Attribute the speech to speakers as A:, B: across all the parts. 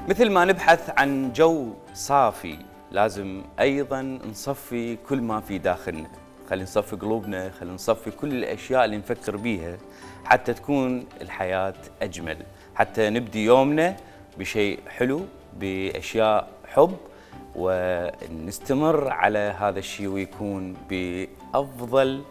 A: مثل ما نبحث عن جو صافي لازم أيضا نصفي كل ما في داخلنا. خلينا نصفي قلوبنا، خلينا نصفي كل الأشياء اللي نفكر بيها حتى تكون الحياة أجمل، حتى نبدي يومنا بشيء حلو، بأشياء حب، ونستمر على هذا الشيء ويكون بأفضل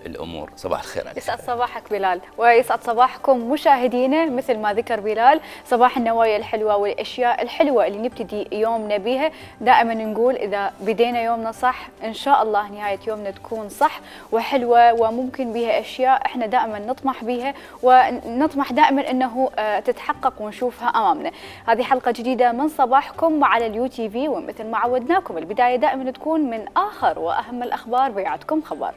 A: الأمور. صباح الخير عليك.
B: يسعد صباحك بلال، ويسعد صباحكم مشاهدينا. مثل ما ذكر بلال، صباح النوايا الحلوة والأشياء الحلوة اللي نبتدي يومنا بها. دائما نقول إذا بدينا يومنا صح إن شاء الله نهاية يومنا تكون صح وحلوة، وممكن بها أشياء إحنا دائما نطمح بها، ونطمح دائما أنه تتحقق ونشوفها أمامنا. هذه حلقة جديدة من صباحكم على اليو تي في، ومثل ما عودناكم البداية دائما تكون من آخر وأهم الأخبار. بيعتكم خبر.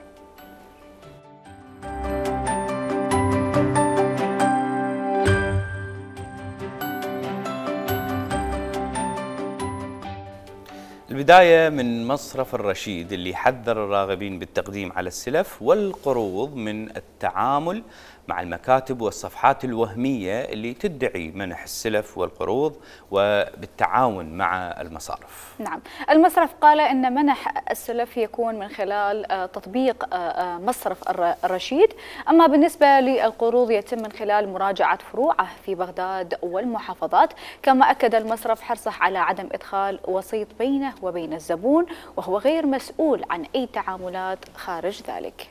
A: البداية من مصرف الرشيد اللي حذر الراغبين بالتقديم على السلف والقروض من التعامل مع المكاتب والصفحات الوهمية اللي تدعي منح السلف والقروض وبالتعاون مع المصارف.
B: نعم، المصرف قال أن منح السلف يكون من خلال تطبيق مصرف الرشيد، أما بالنسبة للقروض يتم من خلال مراجعة فروعه في بغداد والمحافظات. كما أكد المصرف حرصه على عدم إدخال وسيط بينه وبين الزبون، وهو غير مسؤول عن أي تعاملات خارج ذلك.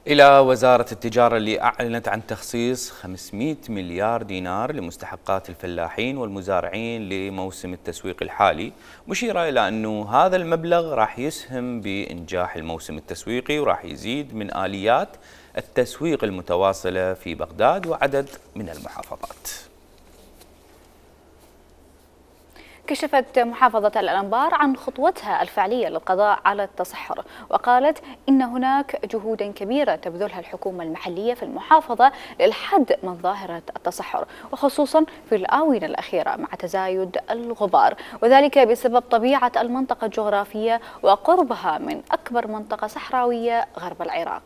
A: إلى وزارة التجارة اللي أعلنت عن تخصيص 500 مليار دينار لمستحقات الفلاحين والمزارعين لموسم التسويق الحالي، مشيرة إلى أنه هذا المبلغ راح يسهم بإنجاح الموسم التسويقي وراح يزيد من آليات التسويق المتواصلة في بغداد وعدد من المحافظات.
B: كشفت محافظة الأنبار عن خطوتها الفعلية للقضاء على التصحر، وقالت إن هناك جهودا كبيرة تبذلها الحكومة المحلية في المحافظة للحد من ظاهرة التصحر، وخصوصا في الآونة الأخيرة مع تزايد الغبار، وذلك بسبب طبيعة المنطقة الجغرافية وقربها من أكبر منطقة صحراوية غرب العراق.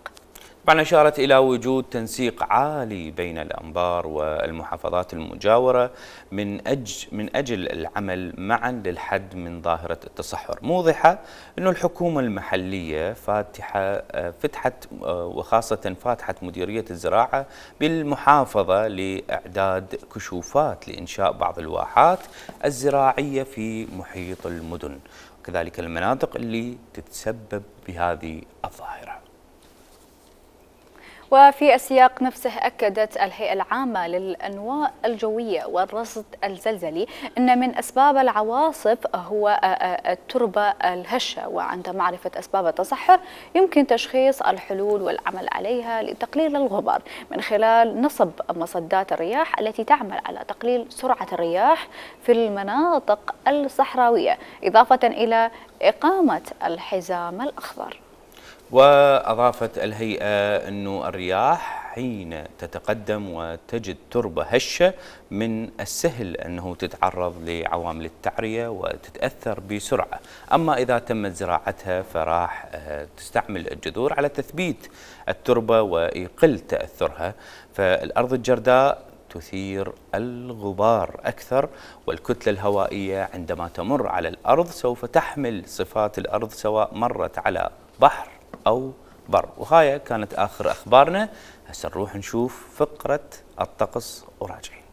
A: طبعا أشارت إلى وجود تنسيق عالي بين الأنبار والمحافظات المجاورة من أجل العمل معا للحد من ظاهرة التصحر، موضحة أن الحكومة المحلية فتحت وخاصة فاتحت مديرية الزراعة بالمحافظة لإعداد كشوفات لإنشاء بعض الواحات الزراعية في محيط المدن، وكذلك المناطق اللي تتسبب بهذه الظاهرة.
B: وفي السياق نفسه أكدت الهيئة العامة للأنواع الجوية والرصد الزلزلي أن من أسباب العواصف هو التربة الهشة، وعند معرفة أسباب التصحر يمكن تشخيص الحلول والعمل عليها لتقليل الغبار من خلال نصب مصدات الرياح التي تعمل على تقليل سرعة الرياح في المناطق الصحراوية، إضافة إلى إقامة الحزام الأخضر.
A: وأضافت الهيئة أن الرياح حين تتقدم وتجد تربة هشة من السهل أنه تتعرض لعوامل التعرية وتتأثر بسرعة، أما إذا تمت زراعتها فراح تستعمل الجذور على تثبيت التربة ويقل تأثرها، فالأرض الجرداء تثير الغبار أكثر، والكتلة الهوائية عندما تمر على الأرض سوف تحمل صفات الأرض سواء مرت على بحر أو بر. وهاي كانت آخر أخبارنا. هسه نروح نشوف فقرة الطقس وراجعين.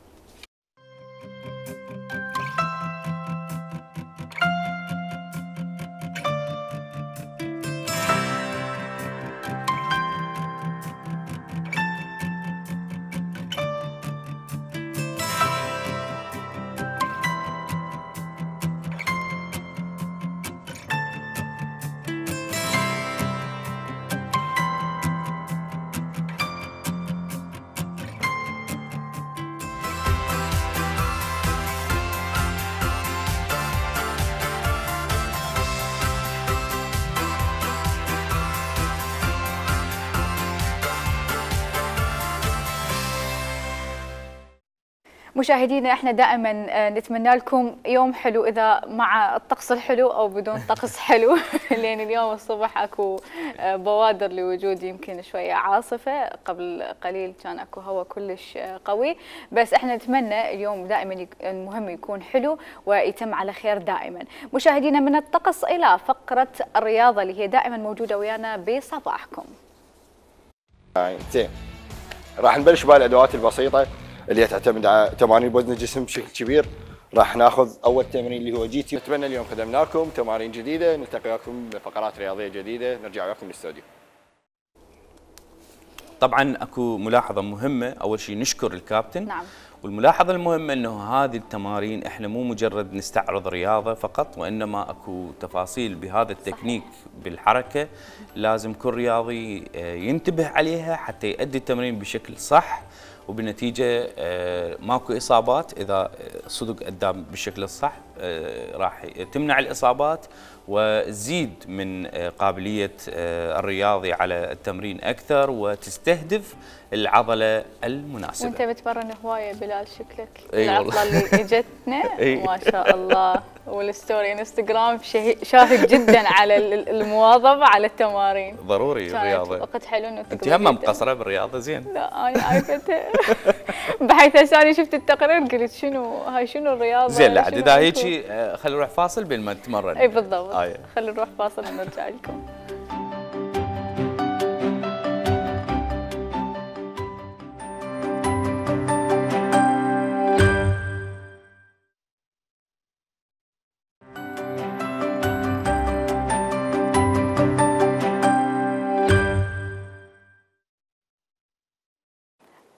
B: مشاهدينا احنا دائما نتمنى لكم يوم حلو، اذا مع الطقس الحلو او بدون طقس حلو لان اليوم الصبح اكو بوادر لوجود يمكن شويه عاصفه، قبل قليل كان اكو هواء كلش قوي، بس احنا نتمنى اليوم دائما المهم يكون حلو ويتم على خير دائما. مشاهدينا من الطقس الى فقره الرياضه اللي هي دائما موجوده ويانا بصباحكم.
C: زين، راح نبلش بالادوات البسيطه اللي تعتمد على تمارين بوزن الجسم بشكل كبير. راح ناخذ اول تمرين اللي هو جي تي. نتمنى اليوم خدمنا لكم تمارين جديده، نلتقي وياكم بفقرات رياضيه جديده، نرجع وياكم للاستوديو.
A: طبعا اكو ملاحظه مهمه، اول شيء نشكر الكابتن.
B: نعم.
A: والملاحظه المهمه انه هذه التمارين احنا مو مجرد نستعرض رياضه فقط، وانما اكو تفاصيل بهذا التكنيك بالحركه لازم كل رياضي ينتبه عليها حتى يؤدي التمرين بشكل صح، وبالنتيجه ماكو اصابات. اذا صدق ادى بالشكل الصح راح تمنع الاصابات وتزيد من قابليه الرياضي على التمرين اكثر وتستهدف العضله المناسبه.
B: وانت بتمرن هوايه بلال شكلك.
A: العطله
B: اللي اجتنا ما شاء الله، والستوري انستغرام شاهد جدا على المواظبه على التمارين.
A: ضروري الرياضه.
B: وقت حلو انه
A: انت هم مقصره بالرياضه زين.
B: لا انا عارفتها بحيث هسه شفت التقرير قلت شنو الرياضه
A: زين. لا اذا هيك خلينا نروح فاصل بين ما نتمرن.
B: اي بالضبط. خلينا نروح فاصل ونرجع لكم.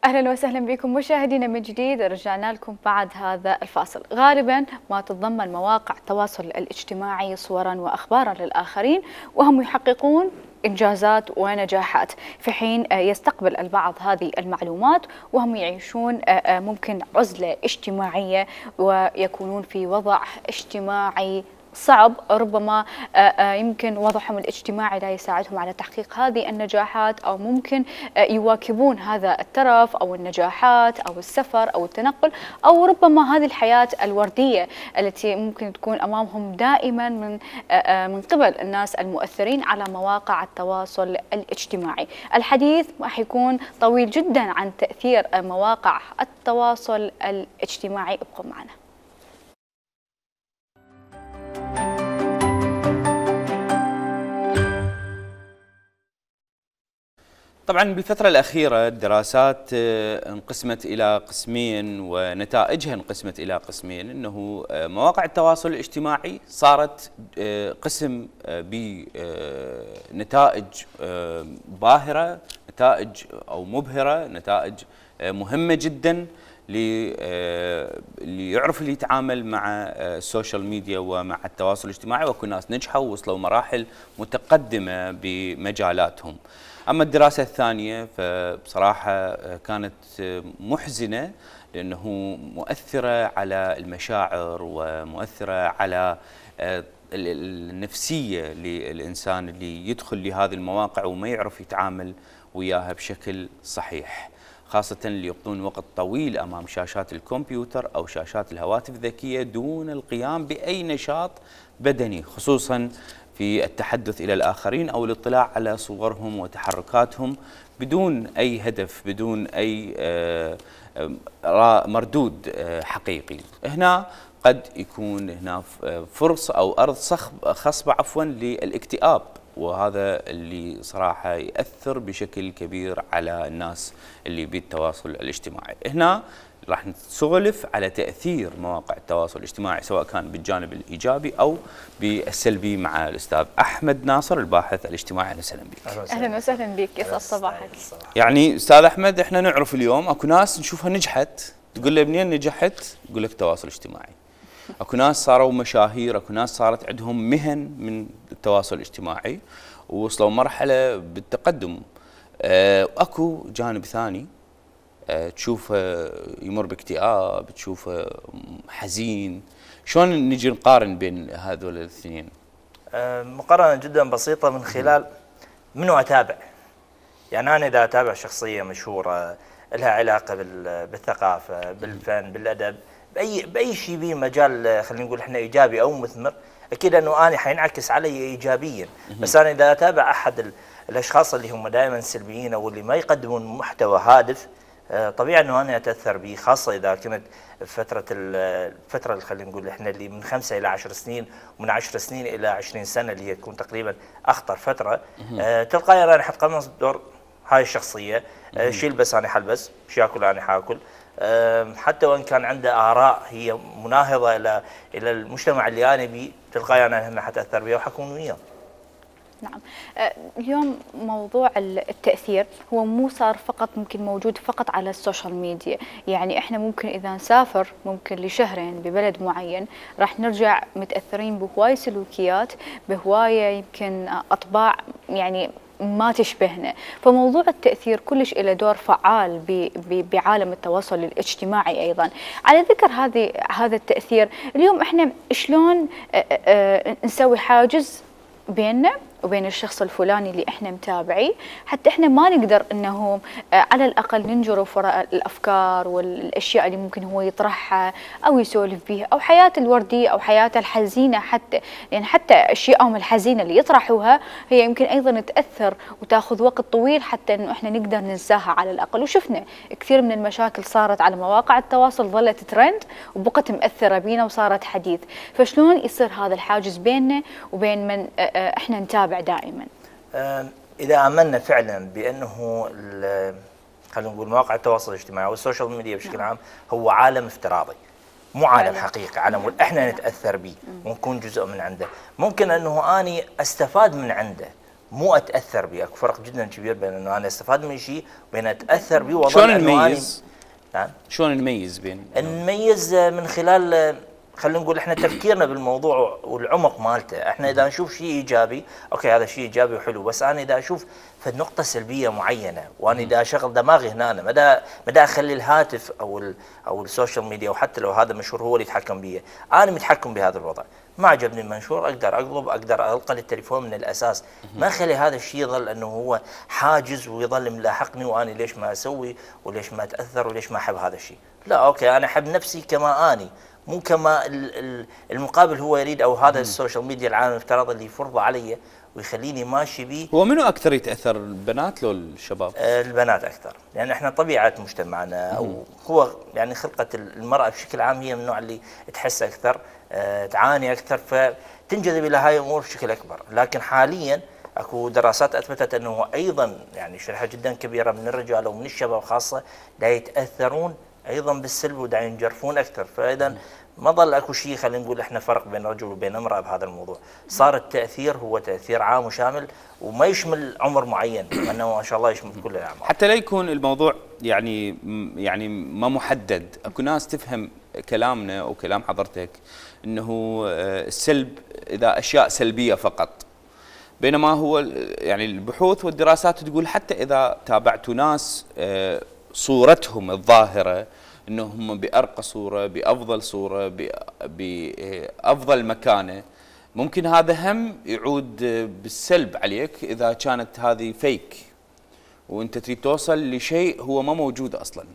B: اهلا وسهلا بكم مشاهدينا من جديد. رجعنا لكم بعد هذا الفاصل. غالبا ما تتضمن مواقع التواصل الاجتماعي صورا واخبارا للاخرين وهم يحققون انجازات ونجاحات، في حين يستقبل البعض هذه المعلومات وهم يعيشون ممكن عزله اجتماعيه ويكونون في وضع اجتماعي صعب، ربما يمكن وضعهم الاجتماعي لا يساعدهم على تحقيق هذه النجاحات، أو ممكن يواكبون هذا الترف أو النجاحات أو السفر أو التنقل، أو ربما هذه الحياة الوردية التي ممكن تكون أمامهم دائما من قبل الناس المؤثرين على مواقع التواصل الاجتماعي. الحديث راح يكون طويل جدا عن تأثير مواقع التواصل الاجتماعي. ابقوا معنا.
A: طبعا بالفترة الأخيرة الدراسات انقسمت إلى قسمين ونتائجها انقسمت إلى قسمين، أنه مواقع التواصل الاجتماعي صارت قسم بنتائج باهرة، نتائج أو مبهرة، نتائج مهمة جدا اللي يعرف اللي يتعامل مع السوشيال ميديا ومع التواصل الاجتماعي، وكل ناس نجحوا ووصلوا مراحل متقدمة بمجالاتهم. أما الدراسة الثانية فبصراحة كانت محزنة، لأنه مؤثرة على المشاعر ومؤثرة على النفسية للإنسان اللي يدخل لهذه المواقع وما يعرف يتعامل وياها بشكل صحيح، خاصة اللي يقضون وقت طويل أمام شاشات الكمبيوتر أو شاشات الهواتف الذكية دون القيام بأي نشاط بدني، خصوصاً في التحدث إلى الآخرين أو الاطلاع على صورهم وتحركاتهم بدون أي هدف، بدون أي مردود حقيقي. هنا قد يكون هنا فرصة أو أرض خصبة للاكتئاب، وهذا اللي صراحة يأثر بشكل كبير على الناس اللي بالتواصل الاجتماعي. هنا راح نسولف على تأثير مواقع التواصل الاجتماعي سواء كان بالجانب الإيجابي أو بالسلبي مع الأستاذ أحمد ناصر الباحث الاجتماعي. أهلا وسهلا بك.
B: أهلا وسهلا بك، يسعد صباحك.
A: يعني أستاذ أحمد، إحنا نعرف اليوم أكو ناس نشوفها نجحت، تقول له منين نجحت؟ يقول لك التواصل الاجتماعي. أكو ناس صاروا مشاهير، أكو ناس صارت عندهم مهن من التواصل الاجتماعي ووصلوا مرحلة بالتقدم. أكو جانب ثاني تشوفه يمر باكتئاب، تشوفه حزين. شلون نجي نقارن بين هذول الاثنين؟
D: مقارنة جدا بسيطة من خلال منو أتابع. يعني أنا إذا أتابع شخصية مشهورة لها علاقه بالثقافه، بالفن، بالادب، باي شيء به مجال خلينا نقول احنا ايجابي او مثمر، اكيد انه انا حينعكس علي ايجابيا. بس انا اذا اتابع احد الاشخاص اللي هم دائما سلبيين او اللي ما يقدمون محتوى هادف، طبيعي انه انا اتاثر به، خاصه اذا كنت الفتره اللي خلينا نقول احنا اللي من 5 الى 10 سنين، ومن 10 سنين الى 20 سنه اللي هي تكون تقريبا اخطر فتره. تلقائيا انا حتقمص دور هاي الشخصيه، شو يلبس انا حلبس، شو ياكل انا حاكل، حتى وان كان عنده اراء هي مناهضه الى المجتمع اللي انا بيه، تلقائيا انا حتاثر بها وحكون وياه.
B: نعم. اليوم موضوع التأثير هو مو صار فقط ممكن موجود فقط على السوشيال ميديا، يعني احنا ممكن اذا نسافر ممكن لشهرين ببلد معين راح نرجع متأثرين بهواي سلوكيات، بهواية يمكن اطباع يعني ما تشبهنا، فموضوع التأثير كلش له دور فعال بعالم التواصل الاجتماعي ايضا. على ذكر هذا التأثير، اليوم احنا شلون نسوي حاجز بيننا وبين الشخص الفلاني اللي احنا متابعيه، حتى احنا ما نقدر انه على الاقل ننجرف وراء الافكار والاشياء اللي ممكن هو يطرحها او يسولف بيها، او حياته الورديه او حياته الحزينه، حتى لان حتى اشيائهم الحزينه اللي يطرحوها هي يمكن ايضا تاثر وتاخذ وقت طويل حتى انه احنا نقدر ننساها على الاقل. وشفنا كثير من المشاكل صارت على مواقع التواصل ظلت ترند وبقت مأثره بينا وصارت حديث، فشلون يصير هذا الحاجز بيننا وبين من احنا نتابع دائما؟
D: اذا امنا فعلا بانه خلينا نقول مواقع التواصل الاجتماعي والسوشيال ميديا بشكل عام هو عالم افتراضي، مو عالم حقيقي، عالم احنا نتاثر به ونكون جزء من عنده، ممكن انه اني استفاد من عنده مو اتاثر به. اكو فرق جدا كبير بين انه انا استفاد من شيء وبين اتاثر به.
A: شلون نميز؟
D: نعم،
A: شلون نميز بين؟
D: نميز من خلال خلينا نقول احنا تفكيرنا بالموضوع والعمق مالته. احنا اذا نشوف شيء ايجابي، اوكي هذا شيء ايجابي وحلو، بس انا اذا اشوف في نقطه سلبيه معينه وانا اذا اشغل دماغي هنا، مدى اخلي الهاتف او السوشيال ميديا، وحتى لو هذا مشهور هو اللي يتحكم بي، انا متحكم بهذا الوضع، ما عجبني المنشور اقدر اقلب، اقدر القى التليفون من الاساس، ما اخلي هذا الشيء يظل انه هو حاجز ويظل ملاحقني وانا ليش ما اسوي وليش ما اتاثر وليش ما احب هذا الشيء. لا، اوكي انا احب نفسي كما اني، مو كما المقابل هو يريد، او هذا السوشيال ميديا العالم الافتراضي اللي يفرضه علي ويخليني ماشي به.
A: هو منو اكثر يتاثر، البنات لو الشباب؟
D: البنات اكثر، لان احنا طبيعه مجتمعنا او هو يعني خلقه المراه بشكل عام هي من النوع اللي تحس اكثر، تعاني اكثر، فتنجذب الى هاي الامور بشكل اكبر. لكن حاليا اكو دراسات اثبتت انه ايضا يعني شريحه جدا كبيره من الرجال ومن الشباب خاصه لا يتاثرون ايضا بالسلب ودا ينجرفون اكثر. فاذا ما ظل اكو شيء خلينا نقول احنا فرق بين رجل وبين امراه بهذا الموضوع، صار التاثير هو تاثير عام وشامل وما يشمل عمر معين، انه ما شاء الله يشمل كل الاعمار.
A: حتى لا يكون الموضوع يعني ما محدد. اكو ناس تفهم كلامنا او كلام حضرتك انه السلب اذا اشياء سلبيه فقط، بينما هو يعني البحوث والدراسات تقول حتى اذا تابعتوا ناس صورتهم الظاهره انهم بارقى صوره، بافضل صوره، بافضل مكانه، ممكن هذا هم يعود بالسلب عليك اذا كانت هذه فيك وانت تريد توصل لشيء هو ما موجود اصلا.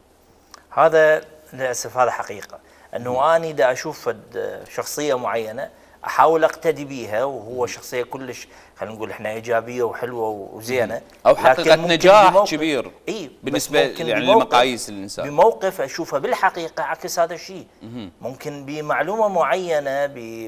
D: هذا للاسف هذا حقيقه، انه اني اذا اشوف شخصيه معينه احاول اقتدي بيها وهو شخصيه كلش خلينا نقول احنا ايجابيه وحلوه وزينه،
A: او حققت نجاح كبير بالنسبه يعني لمقاييس الانسان،
D: بموقف اشوفه بالحقيقه عكس هذا الشيء. ممكن بمعلومه معينه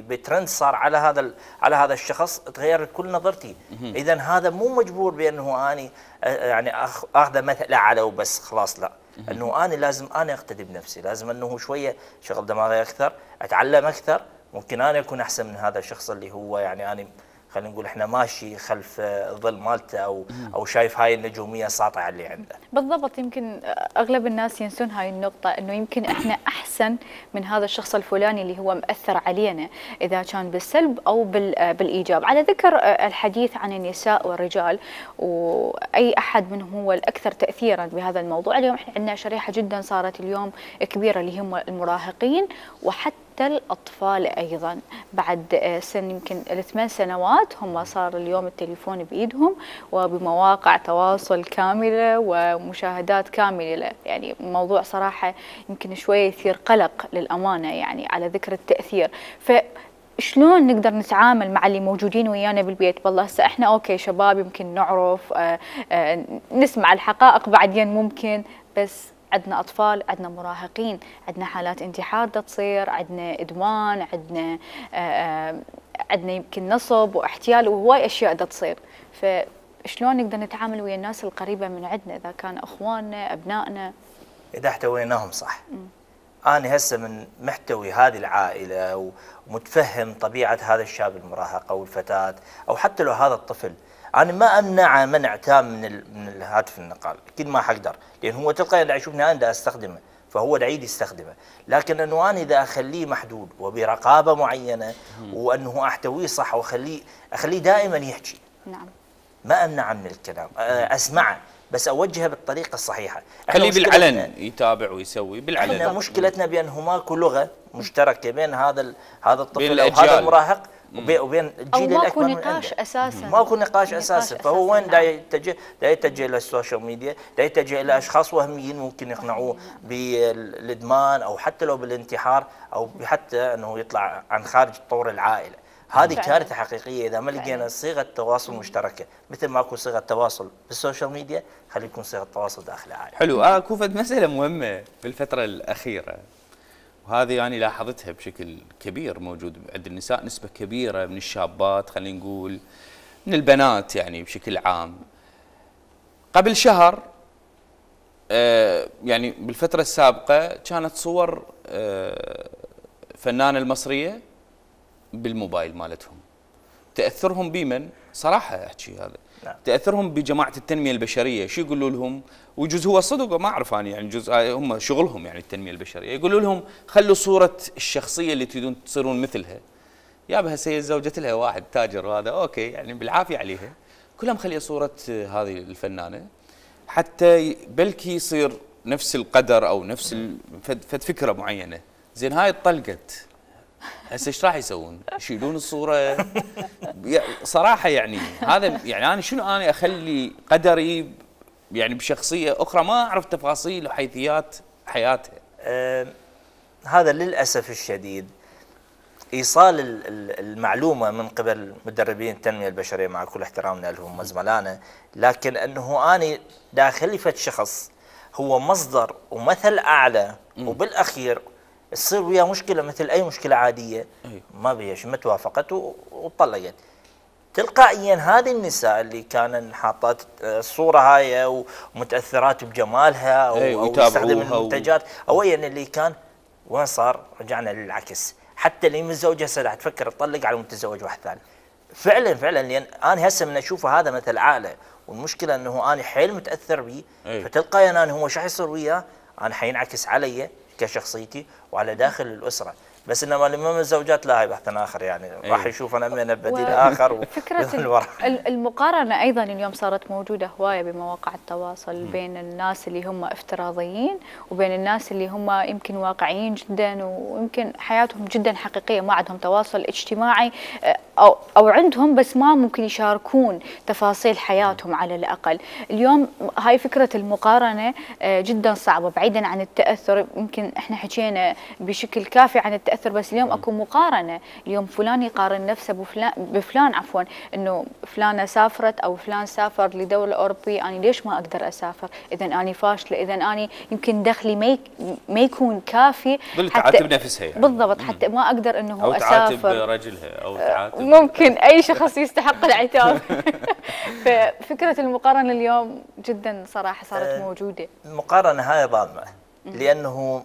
D: بترند صار على هذا الشخص تغيرت كل نظرتي. اذا هذا مو مجبور بانه اني يعني اخذه مثل اعلى وبس خلاص، لا، انه اني لازم انا اقتدي بنفسي، لازم انه شويه شغل دماغي اكثر، اتعلم اكثر، ممكن انا اكون احسن من هذا الشخص اللي هو يعني انا خلينا نقول احنا ماشي خلف الظل مالته او شايف هاي النجوميه ساطعه اللي عنده.
B: بالضبط، يمكن اغلب الناس ينسون هاي النقطه، انه يمكن احنا احسن من هذا الشخص الفلاني اللي هو مأثر علينا، اذا كان بالسلب او بالايجاب. على ذكر الحديث عن النساء والرجال واي احد منهم هو الاكثر تاثيرا بهذا الموضوع، اليوم احنا عندنا شريحه جدا صارت اليوم كبيره اللي هم المراهقين وحتى حتى الأطفال أيضا بعد سن يمكن ال8 سنوات هم صار اليوم التليفون بإيدهم وبمواقع تواصل كاملة ومشاهدات كاملة. يعني موضوع صراحة يمكن شوية يثير قلق للأمانة، يعني على ذكر التأثير. شلون نقدر نتعامل مع اللي موجودين ويانا بالبيت؟ والله هسه احنا اوكي شباب يمكن نعرف نسمع الحقائق بعدين ممكن، بس عندنا اطفال، عندنا مراهقين، عندنا حالات انتحار دا تصير، عندنا ادمان، عندنا يمكن نصب واحتيال وهواي اشياء دا تصير. فشلون نقدر نتعامل ويا الناس القريبه من عندنا اذا كان اخواننا ابنائنا؟
D: اذا احتويناهم صح. أنا هسه من محتوي هذه العائلة ومتفهم طبيعة هذا الشاب المراهق أو الفتاة أو حتى لو هذا الطفل، أنا ما أمنعه منع تام من الهاتف النقال، أكيد ما حقدر، لأن هو تلقائيا دا يشوفني أنا دا أستخدمه فهو دا يعيد يستخدمه، لكن أنه أنا إذا أخليه محدود وبرقابة معينة وأنه أحتويه صح وأخليه دائما يحكي.
B: نعم.
D: ما أمنعه من الكلام، أسمعه بس اوجهه بالطريقه الصحيحه.
A: خليه بالعلن يتابع ويسوي بالعلن.
D: احنا مشكلتنا بانه ماكو لغه مشتركه بين هذا الطفل او هذا المراهق وبين الجيل الاكبر من عنده.
B: ماكو نقاش اساسا.
D: ماكو نقاش اساسا، فهو وين دا يتجه الى السوشيال ميديا، دا يتجه الى اشخاص وهميين ممكن يقنعوه بالادمان او حتى لو بالانتحار او حتى انه يطلع عن خارج طور العائله. هذه كارثه حقيقيه اذا ما لقينا صيغه تواصل مشتركه، مثل ما اكو صيغه تواصل بالسوشيال ميديا خلي يكون صيغه تواصل داخل العائله.
A: حلو. اكو مساله مهمه بالفتره الاخيره وهذه يعني لاحظتها بشكل كبير موجود عند النساء، نسبه كبيره من الشابات خلينا نقول من البنات يعني بشكل عام. قبل شهر يعني بالفتره السابقه كانت صور فنانه المصريه بالموبايل مالتهم، تاثرهم بمن؟ صراحه احكي هذا
D: نعم.
A: تاثرهم بجماعه التنميه البشريه، شو يقولوا لهم؟ وجزء هو صدق ما اعرف انا يعني جزء هم شغلهم يعني التنميه البشريه، يقولوا لهم خلوا صوره الشخصيه اللي تريدون تصيرون مثلها. يابا هسه زوجت لها واحد تاجر وهذا اوكي يعني بالعافيه عليها، كلها مخليه صوره هذه الفنانه حتى بلكي يصير نفس القدر او نفس فد فكره معينه. زين هاي اتطلقت هسه ايش راح يسوون؟ يشيلون الصوره؟ صراحه يعني هذا يعني انا شنو انا اخلي قدري يعني بشخصيه اخرى ما اعرف تفاصيل وحيثيات حياتها.
D: هذا للاسف الشديد ايصال المعلومه من قبل مدربين التنميه البشريه مع كل احترامنا لهم وزملائنا، لكن انه انا داخلي فد شخص هو مصدر ومثل اعلى وبالاخير تصير وياه مشكله مثل اي مشكله عاديه ما بيش ما توافقت وطلقت. تلقائيا هذه النساء اللي كانن حاطات الصوره هاي ومتاثرات بجمالها او تستخدم المنتجات او يعني اللي كان وين صار؟ رجعنا للعكس، حتى اللي متزوجه هسه راح تفكر تطلق على متزوج واحد ثاني. فعلا لان انا هسه من اشوفه هذا مثل اعلى، والمشكله انه انا حيل متاثر به، فتلقائيا انا هو شو حيصير وياه؟ انا حينعكس علي كشخصيتي وعلى داخل الاسره، بس انما لما من الزوجات لا، هي بحث اخر يعني راح يشوف انا من بديل اخر.
B: فكره المقارنه ايضا اليوم صارت موجوده هوايه بمواقع التواصل بين الناس اللي هم افتراضيين وبين الناس اللي هم يمكن واقعيين جدا ويمكن حياتهم جدا حقيقيه، ما عندهم تواصل اجتماعي او عندهم بس ما ممكن يشاركون تفاصيل حياتهم على الاقل. اليوم هاي فكره المقارنه جدا صعبه، بعيدا عن التاثر يمكن احنا حكينا بشكل كافي عن التاثر، بس اليوم اكو مقارنه، اليوم فلان يقارن نفسه بفلان عفوا، انه فلانه سافرت او فلان سافر لدوله اوروبيه، انا ليش ما اقدر اسافر؟ اذا انا فاشله، اذا انا يمكن دخلي ما يكون كافي
A: حتى تعاتب نفسها يعني.
B: بالضبط، حتى ما اقدر انه
A: أو
B: اسافر
A: تعاتب رجلها او تعاتب
B: ممكن اي شخص يستحق العتاب. ففكره المقارنه اليوم جدا صراحه صارت موجوده.
D: المقارنه هاي ظالمه، لانه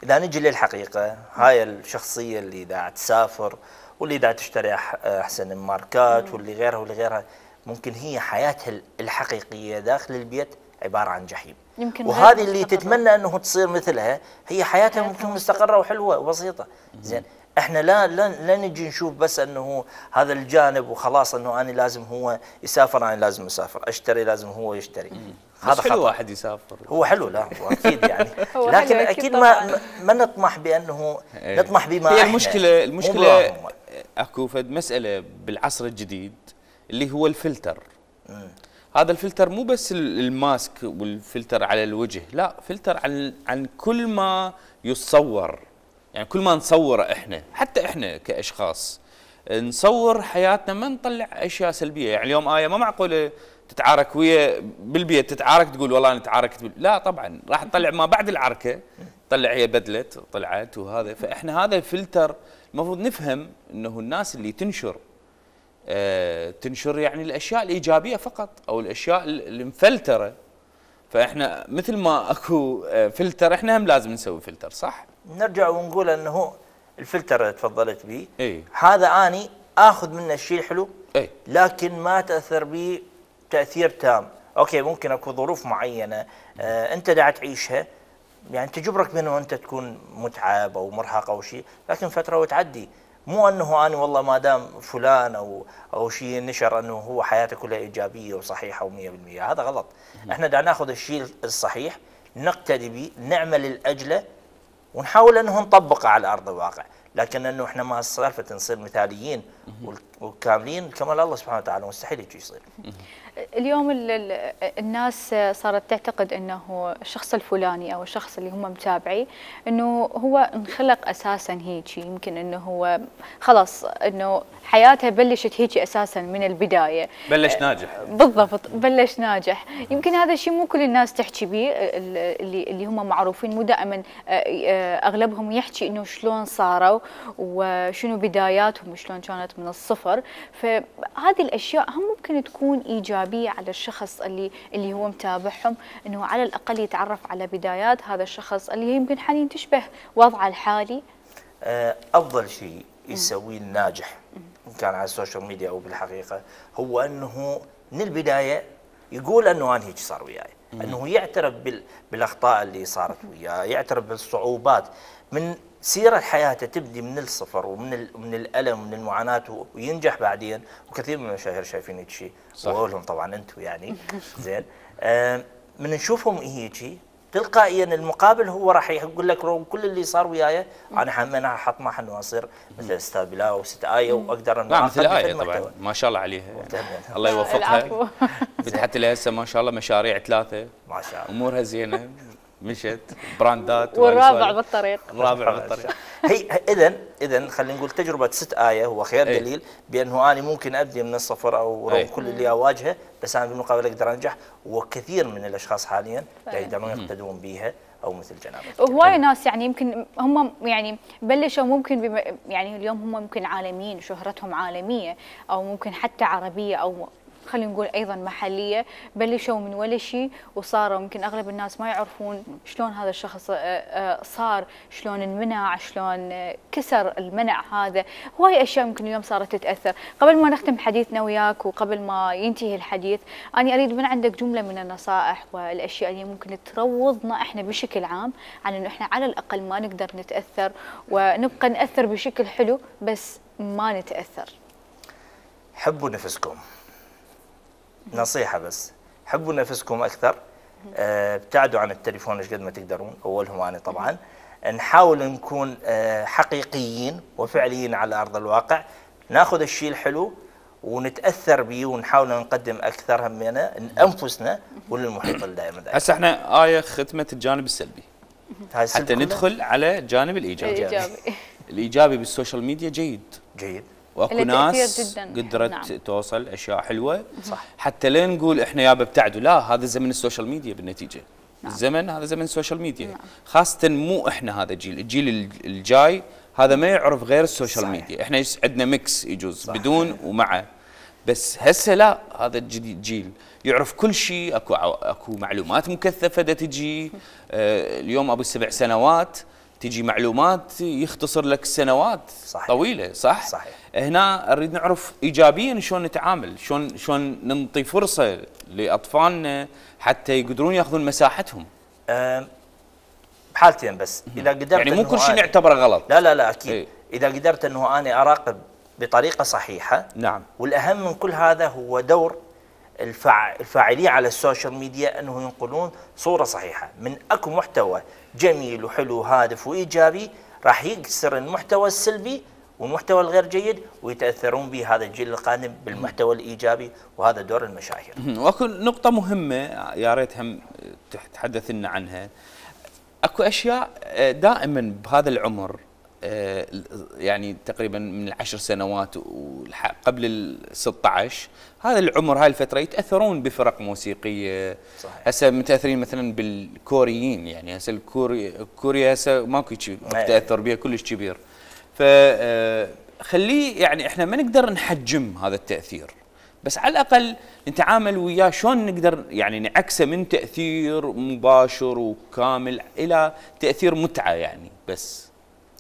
D: إذا نجي للحقيقة هاي الشخصية اللي دا تسافر واللي دا تشتري أحسن الماركات واللي غيرها ممكن هي حياتها الحقيقية داخل البيت عبارة عن جحيم، وهذه اللي تتمنى أنه تصير مثلها هي حياتها ممكن مستقرة وحلوة وبسيطة. زين احنا لا نجي نشوف بس انه هذا الجانب وخلاص، انه انا لازم هو يسافر انا لازم اسافر، اشتري لازم هو يشتري.
A: هذا حلو واحد يسافر،
D: هو حلو، لا هو اكيد يعني
B: هو
D: لكن
B: حلو
D: اكيد
B: طبعاً.
D: ما نطمح بانه نطمح بما
A: هي
D: احنا.
A: المشكله اكو فد مساله بالعصر الجديد اللي هو الفلتر. هذا الفلتر مو بس الماسك والفلتر على الوجه، لا فلتر عن كل ما يتصور. يعني كل ما نصوره احنا، حتى احنا كاشخاص نصور حياتنا، ما نطلع اشياء سلبيه. يعني اليوم ما معقوله تتعارك ويا بالبيت، تتعارك تقول والله انا تعاركت لا طبعا راح تطلع ما بعد العركه، تطلع هي بدلت طلعت وهذا. فاحنا هذا الفلتر المفروض نفهم انه الناس اللي تنشر يعني الاشياء الايجابيه فقط، او الاشياء المفلتره. فاحنا مثل ما اكو فلتر احنا هم لازم نسوي فلتر، صح؟
D: نرجع ونقول انه الفلتر اللي تفضلت به
A: هذا
D: اني اخذ منه الشيء الحلو،
A: لكن
D: ما تاثر به تاثير تام. اوكي ممكن اكو ظروف معينه انت قاعد تعيشها، يعني تجبرك بانه انت تكون متعب او مرهق او شيء، لكن فتره وتعدي. مو انه انا والله ما دام فلان او شيء نشر انه هو حياته كلها ايجابيه وصحيحه و100%، هذا غلط. احنا دا ناخذ الشيء الصحيح نقتدي به، نعمل لاجله ونحاول انه نطبقه على ارض الواقع، لكن انه احنا ما سالفه نصير مثاليين وكاملين كمال الله سبحانه وتعالى، مستحيل يجي يصير.
B: اليوم الناس صارت تعتقد انه الشخص الفلاني او الشخص اللي هم متابعي انه هو انخلق اساسا هيك، يمكن انه هو خلاص انه حياته بلشت هيك اساسا من البدايه،
A: بلش ناجح.
B: بالضبط، بلش ناجح. يمكن هذا الشيء مو كل الناس تحكي به، اللي هم معروفين مو دائما اغلبهم يحكي انه شلون صاروا وشنو بداياتهم وشلون كانت من الصفر. فهذه الاشياء هم ممكن تكون ايجابيه على الشخص اللي هو متابعهم، انه على الاقل يتعرف على بدايات هذا الشخص اللي يمكن حاليا تشبه وضعه الحالي.
D: افضل شيء يسويه الناجح ان كان على السوشيال ميديا او بالحقيقه هو انه من البدايه يقول انه انا هيك صار وياي، انه يعترف بالاخطاء اللي صارت وياه، يعترف بالصعوبات. من سيرة حياته تبدي من الصفر ومن الألم ومن المعاناة وينجح بعدين. وكثير من المشاهير شايفين هيك شيء، واقولهم طبعا انتم يعني زين من نشوفهم هيك تلقائيا المقابل هو راح يقول لك كل اللي صار وياي انا حطمح انه اصير مثل استاذ بلا او ست ايه واقدر انه
A: مثل ايه طبعا ما شاء الله عليها الله يوفقها. فتحت لها هسه ما شاء الله مشاريع 3
D: ما شاء الله،
A: امورها زينه، مشت براندات
B: والرابع بالطريق.
D: هي اذا خلينا نقول تجربه 6 آية هو خير دليل بانه انا ممكن ابدي من الصفر او رغم كل اللي اواجهه، بس انا بالمقابل اقدر انجح. وكثير من الاشخاص حاليا يقدرون يقتدون بها او مثل جنابك.
B: هواي ناس يعني يمكن هم يعني بلشوا ممكن يعني اليوم هم ممكن عالميين، شهرتهم عالميه او ممكن حتى عربيه او خلينا نقول ايضا محليه، بلشوا من ولا شيء وصاروا. يمكن اغلب الناس ما يعرفون شلون هذا الشخص صار، شلون انمنع، شلون كسر المنع هذا. هواي اشياء يمكن اليوم صارت تتاثر. قبل ما نختم حديثنا وياك وقبل ما ينتهي الحديث، انا اريد من عندك جمله من النصائح والاشياء اللي ممكن تروضنا احنا بشكل عام عن انه احنا على الاقل ما نقدر نتاثر ونبقى ناثر بشكل حلو بس ما نتاثر.
D: حبوا نفسكم، نصيحة بس، حبوا نفسكم أكثر. ابتعدوا عن التليفون ايش قد ما تقدرون، أولهم أنا طبعا. نحاول نكون حقيقيين وفعليين على أرض الواقع، ناخذ الشيء الحلو ونتأثر به ونحاول نقدم أكثر همنا لأنفسنا وللمحيط اللي دائما.
A: هسه احنا آية ختمت الجانب السلبي حتى ندخل على الجانب الإيجابي. الإيجابي بالسوشيال ميديا جيد واكو ناس قدرت توصل اشياء حلوه،
D: صح.
A: حتى لا نقول احنا يابا ابتعدوا، لا هذا زمن السوشيال ميديا بالنتيجه. الزمن هذا زمن السوشيال ميديا، خاصه مو احنا هذا الجيل الجاي هذا ما يعرف غير السوشيال ميديا. احنا عندنا ميكس يجوز بدون ومعه، بس هسه لا، هذا الجديد جيل يعرف كل شيء. اكو معلومات مكثفه تجي اليوم ابو 7 سنوات تجي معلومات يختصر لك سنوات
D: صحيح.
A: طويله، صح؟
D: صحيح.
A: هنا نريد نعرف ايجابيا شلون نتعامل، شلون ننطي فرصه لاطفالنا حتى يقدرون ياخذون مساحتهم.
D: بحالتين بس اذا قدرت
A: يعني مو كل شيء نعتبره غلط.
D: لا اكيد. اذا قدرت انه انا اراقب بطريقه صحيحه.
A: نعم.
D: والاهم من كل هذا هو دور الفاعلين على السوشيال ميديا انه ينقلون صوره صحيحه من اكو محتوى جميل وحلو وهادف وايجابي، راح يكسر المحتوى السلبي والمحتوى الغير جيد ويتاثرون به هذا الجيل القادم بالمحتوى الايجابي، وهذا دور المشاهير.
A: واكو نقطه مهمه يا ريت هم تتحدث لنا عنها. اكو اشياء دائما بهذا العمر، يعني تقريبا من ال10 سنوات قبل ال16، هذا العمر هاي الفتره يتاثرون بفرق موسيقيه.
D: صحيح.
A: هسه متاثرين مثلا بالكوريين، يعني هسه كوريا هسه ماكو شيء تاثر بها كلش كبير. فخليه يعني احنا ما نقدر نحجم هذا التاثير، بس على الاقل نتعامل وياه شلون نقدر يعني نعكسه من تاثير مباشر وكامل الى تاثير متعه، يعني بس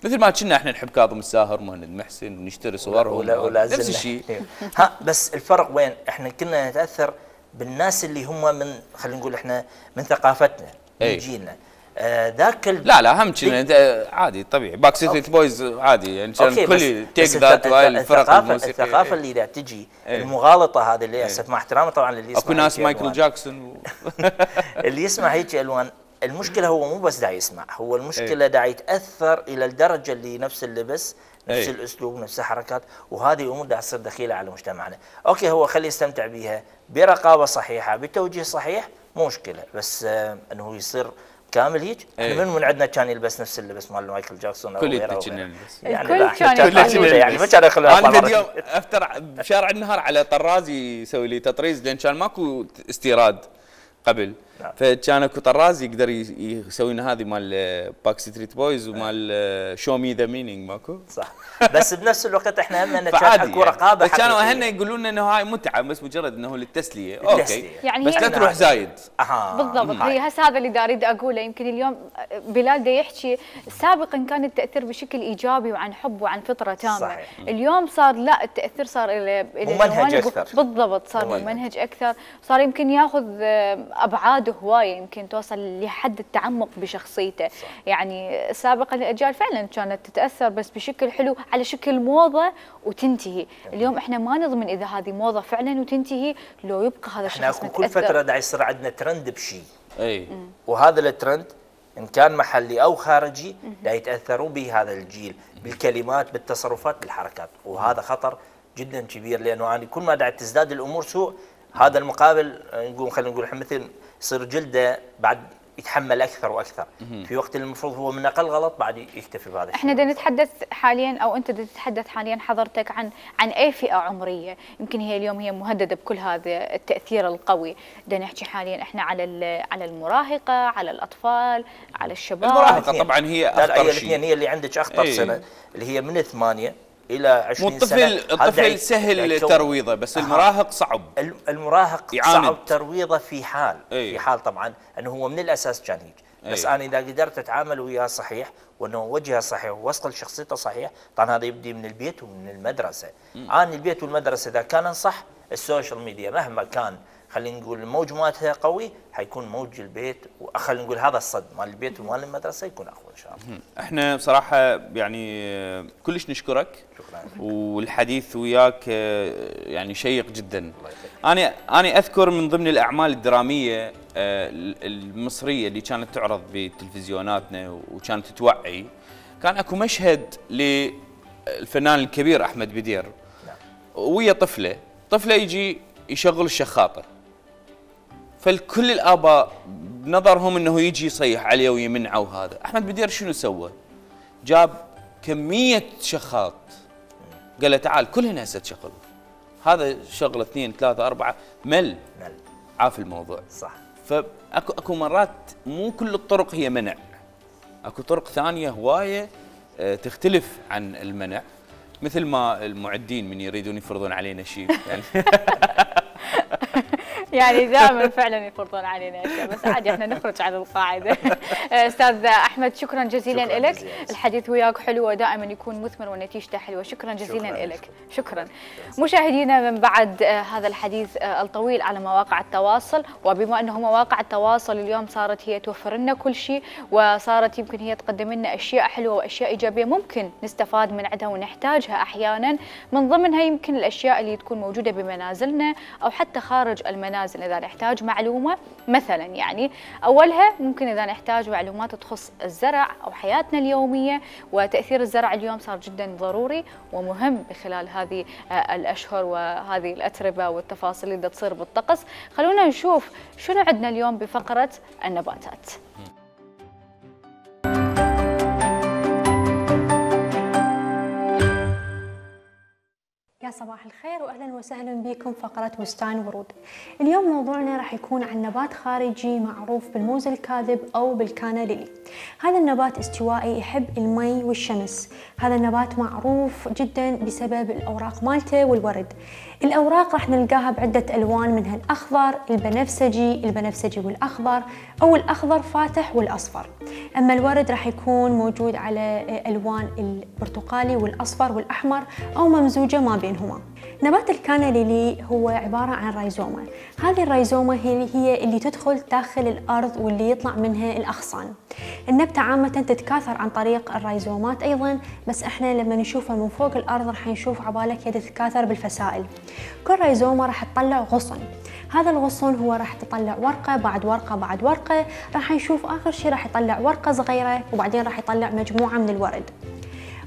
A: مثل ما كنا احنا نحب كاظم الساهر ومهند محسن ونشتري صورهم نفس الشيء.
D: ها بس الفرق وين؟ احنا كنا نتاثر بالناس اللي هم من، خلينا نقول احنا من ثقافتنا من جيلنا. ذاك
A: لا هم كنا عادي طبيعي، باك ستريت بويز عادي يعني كان كل تيك ذات وهاي الفرق الموسيقيه.
D: الثقافه اللي دا تجي المغالطه هذه اللي اسف مع احترامي طبعا اللي يسمع
A: اكو ناس مايكل جاكسون
D: اللي يسمع هيك الوان. المشكله هو مو بس دا يسمع، هو المشكله دا يتاثر الى الدرجه اللي نفس اللبس نفس الاسلوب نفس الحركات، وهذه امور دا تصير دخيله على مجتمعنا. اوكي هو خليه يستمتع بها برقابه صحيحه بتوجيه صحيح مو مشكله، بس انه يصير كامل هيك. من عندنا كان يلبس نفس اللبس مال مايكل جاكسون او غيره
B: يعني الكل
D: يعني ما كان يخلوا
A: انا في اليوم افتر بشارع النهار على طراز يسوي لي تطريز، لان كان ماكو استيراد قبل. فكان اكو طراز يقدر يسوي لنا هذه مال باك ستريت بويز ومال شو مي ذا مينينج ماكو
D: صح. بس بنفس الوقت احنا هم كان اكو رقابه
A: حقيقيه. كانوا اهلنا يقولون لنا انه هاي متعه بس مجرد انه للتسليه. اوكي
B: يعني
A: بس لا تروح زايد.
B: بالضبط. هي هسه هذا اللي اريد اقوله. يمكن اليوم بلال دا يحكي سابقا كان التاثير بشكل ايجابي وعن حب وعن فطره تامه.
D: صحيح.
B: اليوم صار لا، التاثير صار الى
D: ممنهج اكثر.
B: بالضبط صار ممنهج اكثر، صار يمكن ياخذ ابعاد هوايه، يمكن توصل لحد التعمق بشخصيته. صح. يعني سابقا الاجيال فعلا كانت تتاثر بس بشكل حلو على شكل موضه وتنتهي. اليوم احنا ما نضمن اذا هذه موضه فعلا وتنتهي لو يبقى هذا الشخص
D: متاثر. كل فتره دا يصير عندنا ترند بشيء،
A: اي
D: وهذا الترند ان كان محلي او خارجي دا يتاثرون به هذا الجيل بالكلمات بالتصرفات بالحركات، وهذا خطر جدا كبير. لانه انا كل ما دا تزداد الامور سوء، هذا المقابل نقول خلينا نقول مثل يصير جلده بعد يتحمل اكثر واكثر، في وقت المفروض هو من اقل غلط بعد يكتفي بهذا الشيء.
B: احنا بدنا نتحدث حاليا او انت بدك تتحدث حاليا حضرتك عن اي فئه عمريه يمكن هي اليوم هي مهدده بكل هذا التاثير القوي. بدنا نحكي حاليا احنا على المراهقه، على الاطفال، على الشباب.
A: المراهقه طبعا هي اخطر شيء.
D: هي اللي عندك اخطر سنه اللي هي من 8 الى 20 سنه.
A: الطفل سهل ترويضه، بس المراهق صعب.
D: المراهق صعب ترويضه في حال في حال طبعا انه هو من الاساس كان هيك. بس انا اذا قدرت اتعامل وياه صحيح وانه وجهه صحيح ووصل شخصيته صحيح، طبعا هذا يبدي من البيت ومن المدرسه. انا البيت والمدرسه اذا كان صح، السوشيال ميديا مهما كان خلينا نقول الموج مالتها قوي، حيكون موج البيت وخلينا نقول هذا الصد مال البيت ومال المدرسه يكون اقوى ان شاء الله.
A: احنا بصراحه يعني كلش نشكرك.
D: شكرا.
A: والحديث وياك يعني شيق جدا. انا اذكر من ضمن الاعمال الدراميه المصريه اللي كانت تعرض بتلفزيوناتنا وكانت توعي، كان اكو مشهد للفنان الكبير احمد بدير ويا طفله يجي يشغل الشخاطه، فالكل الاباء بنظرهم انه يجي يصيح عليه ويمنعه. وهذا احمد بدير شنو سوى؟ جاب كميه شخاط، قال له تعال كلهن هسه تشغل، هذا شغله 2 3 4 مل عاف الموضوع.
D: صح.
A: فاكو مرات مو كل الطرق هي منع، اكو طرق ثانيه هوايه تختلف عن المنع، مثل ما المعدين من يريدون يفرضون علينا شيء يعني
B: يعني دائما فعلا يفرضون علينا اشياء، بس عادي احنا نخرج عن القاعده. استاذ احمد شكرا جزيلا لك، الحديث وياك حلو ودائما يكون مثمر ونتيجته حلوه، شكرا جزيلا لك. شكرا. مشاهدينا من بعد هذا الحديث الطويل على مواقع التواصل، وبما انه مواقع التواصل اليوم صارت هي توفر لنا كل شيء، وصارت يمكن هي تقدم لنا اشياء حلوه واشياء ايجابيه ممكن نستفاد من عندها ونحتاجها احيانا، من ضمنها يمكن الاشياء اللي تكون موجوده بمنازلنا او حتى خارج المنازل اذا نحتاج معلومه مثلا. يعني اولها ممكن اذا نحتاج معلومات تخص الزرع او حياتنا اليوميه، وتاثير الزرع اليوم صار جدا ضروري ومهم بخلال هذه الاشهر وهذه الاتربه والتفاصيل اللي تصير بالطقس. خلونا نشوف شنو عندنا اليوم بفقره النباتات.
E: يا صباح الخير واهلا وسهلا بكم فقرة بستان ورود. اليوم موضوعنا راح يكون عن نبات خارجي معروف بالموز الكاذب او بالكانا ليلي. هذا النبات استوائي يحب المي والشمس، هذا النبات معروف جدا بسبب الاوراق مالته والورد. الاوراق راح نلقاها بعدة الوان، منها الاخضر، البنفسجي والاخضر، او الاخضر فاتح والاصفر. اما الورد راح يكون موجود على الوان البرتقالي والاصفر والاحمر او ممزوجة ما بينهما. نبات الكانا ليلي هو عبارة عن رايزومة، هذه الرايزومة هي اللي تدخل داخل الأرض واللي يطلع منها الأغصان. النبتة عامة تتكاثر عن طريق الرايزومات أيضا، بس احنا لما نشوفها من فوق الأرض راح نشوف عبالك هي تتكاثر بالفسائل. كل رايزومة راح تطلع غصن، هذا الغصن هو راح تطلع ورقة بعد ورقة بعد ورقة، راح نشوف آخر شيء راح يطلع ورقة صغيرة وبعدين راح يطلع مجموعة من الورد.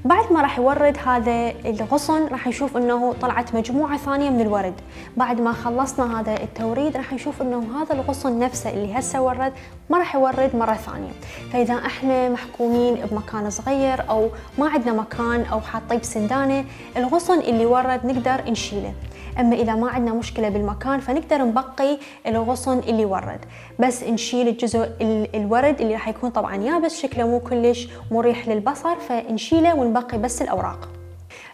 E: بعد ما راح يورد هذا الغصن راح نشوف انه طلعت مجموعة ثانية من الورد. بعد ما خلصنا هذا التوريد راح نشوف انه هذا الغصن نفسه اللي هسه ورد ما راح يورد مرة ثانية. فاذا احنا محكومين بمكان صغير او ما عندنا مكان او حاطين بسندانة، الغصن اللي ورد نقدر نشيله. اما اذا ما عندنا مشكلة بالمكان فنقدر نبقي الغصن اللي ورد، بس نشيل الجزء الورد اللي راح يكون طبعا يابس شكله مو كلش مريح للبصر، فنشيله ونبقي بس الاوراق.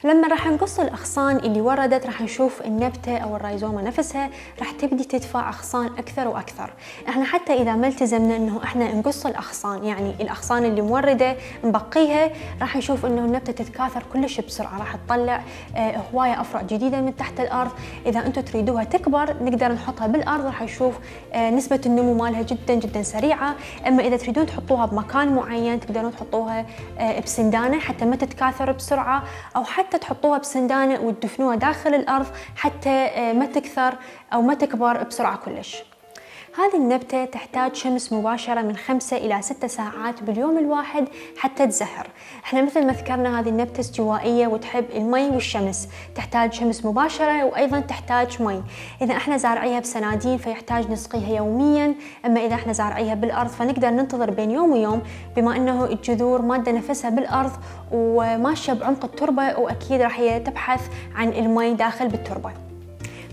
E: لما راح نقص الاغصان اللي وردت راح نشوف النبته او الرايزومه نفسها راح تبدي تدفع اغصان اكثر واكثر. احنا حتى اذا ما التزمنا انه احنا نقص الاغصان، يعني الاغصان اللي مورده نبقيها، راح نشوف انه النبته تتكاثر كلش بسرعه، راح تطلع هوايه افرع جديده من تحت الارض. اذا انتم تريدوها تكبر نقدر نحطها بالارض، راح نشوف نسبه النمو مالها جدا جدا سريعه. اما اذا تريدون تحطوها بمكان معين تقدرون تحطوها بسندانه حتى ما تتكاثر بسرعه، او حتى تحطوها بسندانة وتدفنوها داخل الأرض حتى ما تكثر أو ما تكبر بسرعة كلش. هذه النبتة تحتاج شمس مباشرة من 5 إلى 6 ساعات باليوم الواحد حتى تزهر. احنا مثل ما ذكرنا هذه النبتة استوائية وتحب المي والشمس، تحتاج شمس مباشرة وأيضا تحتاج مي. إذا احنا زارعيها بسنادين فيحتاج نسقيها يوميا، أما إذا احنا زارعيها بالأرض فنقدر ننتظر بين يوم ويوم، بما أنه الجذور مادة نفسها بالأرض وماشية بعمق التربة، وأكيد راح هي تبحث عن المي داخل بالتربة.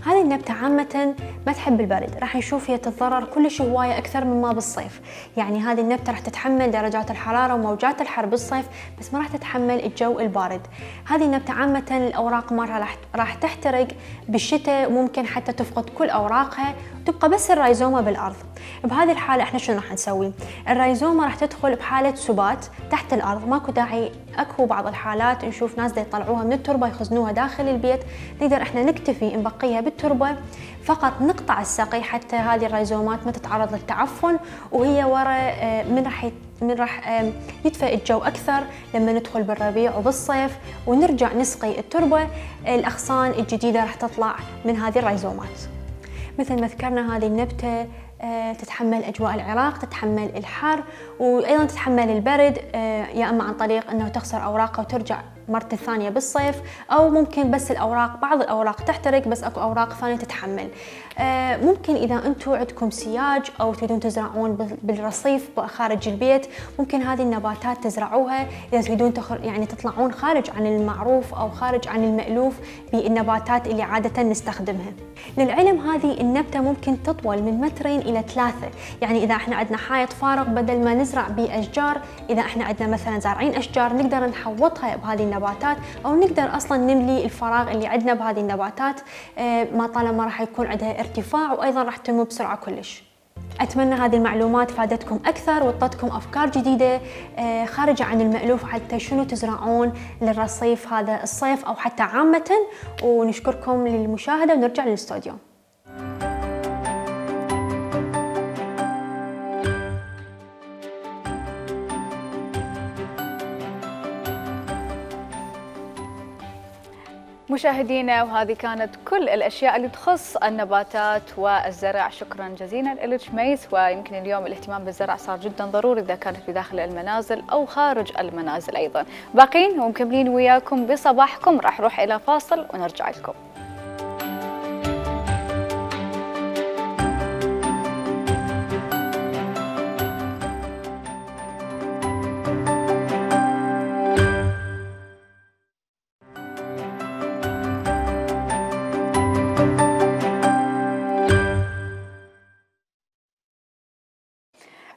E: هذه النبتة عامة ما تحب البرد، راح نشوف هي تتضرر كلش هواية أكثر مما بالصيف. يعني هذه النبتة راح تتحمل درجات الحرارة وموجات الحر بالصيف، بس ما راح تتحمل الجو البارد. هذه النبتة عامة الأوراق مالها راح تحترق بالشتاء، وممكن حتى تفقد كل أوراقها وتبقى بس الرايزومة بالأرض. بهذه الحالة احنا شنو راح نسوي؟ الرايزومة راح تدخل بحالة سبات تحت الأرض، ماكو داعي. اكو بعض الحالات نشوف ناس دا يطلعوها من التربة يخزنوها داخل البيت، نقدر احنا نكتفي نبقيها بالتربة، فقط نقطع السقي حتى هذه الرايزومات ما تتعرض للتعفن، وهي ورا من راح يدفئ الجو أكثر لما ندخل بالربيع وبالصيف ونرجع نسقي التربة، الأغصان الجديدة راح تطلع من هذه الرايزومات. مثل ما ذكرنا هذه النبتة تتحمل أجواء العراق، تتحمل الحر وأيضا تتحمل البرد، يا أما عن طريق أنه تخسر أوراقها وترجع مرة ثانية بالصيف، أو ممكن بس بعض الأوراق تحترق بس أكو أوراق ثانية تتحمل. ممكن إذا أنتم عندكم سياج أو تريدون تزرعون بالرصيف خارج البيت، ممكن هذه النباتات تزرعوها إذا تريدون يعني تطلعون خارج عن المعروف أو خارج عن المألوف بالنباتات اللي عادة نستخدمها. للعلم هذه النبتة ممكن تطول من 2 متر إلى 3. يعني إذا احنا عندنا حائط فارغ بدل ما نزرع به أشجار، إذا احنا عندنا مثلا زارعين أشجار نقدر نحوطها بهذه النباتات، أو نقدر أصلا نملي الفراغ اللي عندنا بهذه النباتات، ما طالما راح يكون عندها ارتفاع وأيضا راح تنمو بسرعة كلش. أتمنى هذه المعلومات فادتكم أكثر وعطتكم أفكار جديدة خارجة عن المألوف حتى شنو تزرعون للرصيف هذا الصيف أو حتى عامة. ونشكركم للمشاهدة ونرجع للاستوديو.
B: مشاهدينا، وهذه كانت كل الأشياء اللي تخص النباتات والزرع. شكرا جزيلا لك ميس. ويمكن اليوم الاهتمام بالزرع صار جدا ضروري إذا كانت بداخل المنازل أو خارج المنازل أيضا. باقين ومكملين وياكم بصباحكم، راح نروح إلى فاصل ونرجع لكم.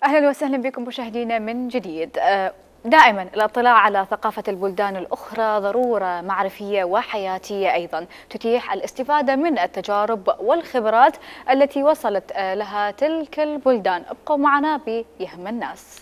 B: أهلا وسهلا بكم مشاهدينا من جديد. دائما الاطلاع على ثقافة البلدان الأخرى ضرورة معرفية وحياتية أيضا، تتيح الاستفادة من التجارب والخبرات التي وصلت لها تلك البلدان. ابقوا معنا بيهم الناس.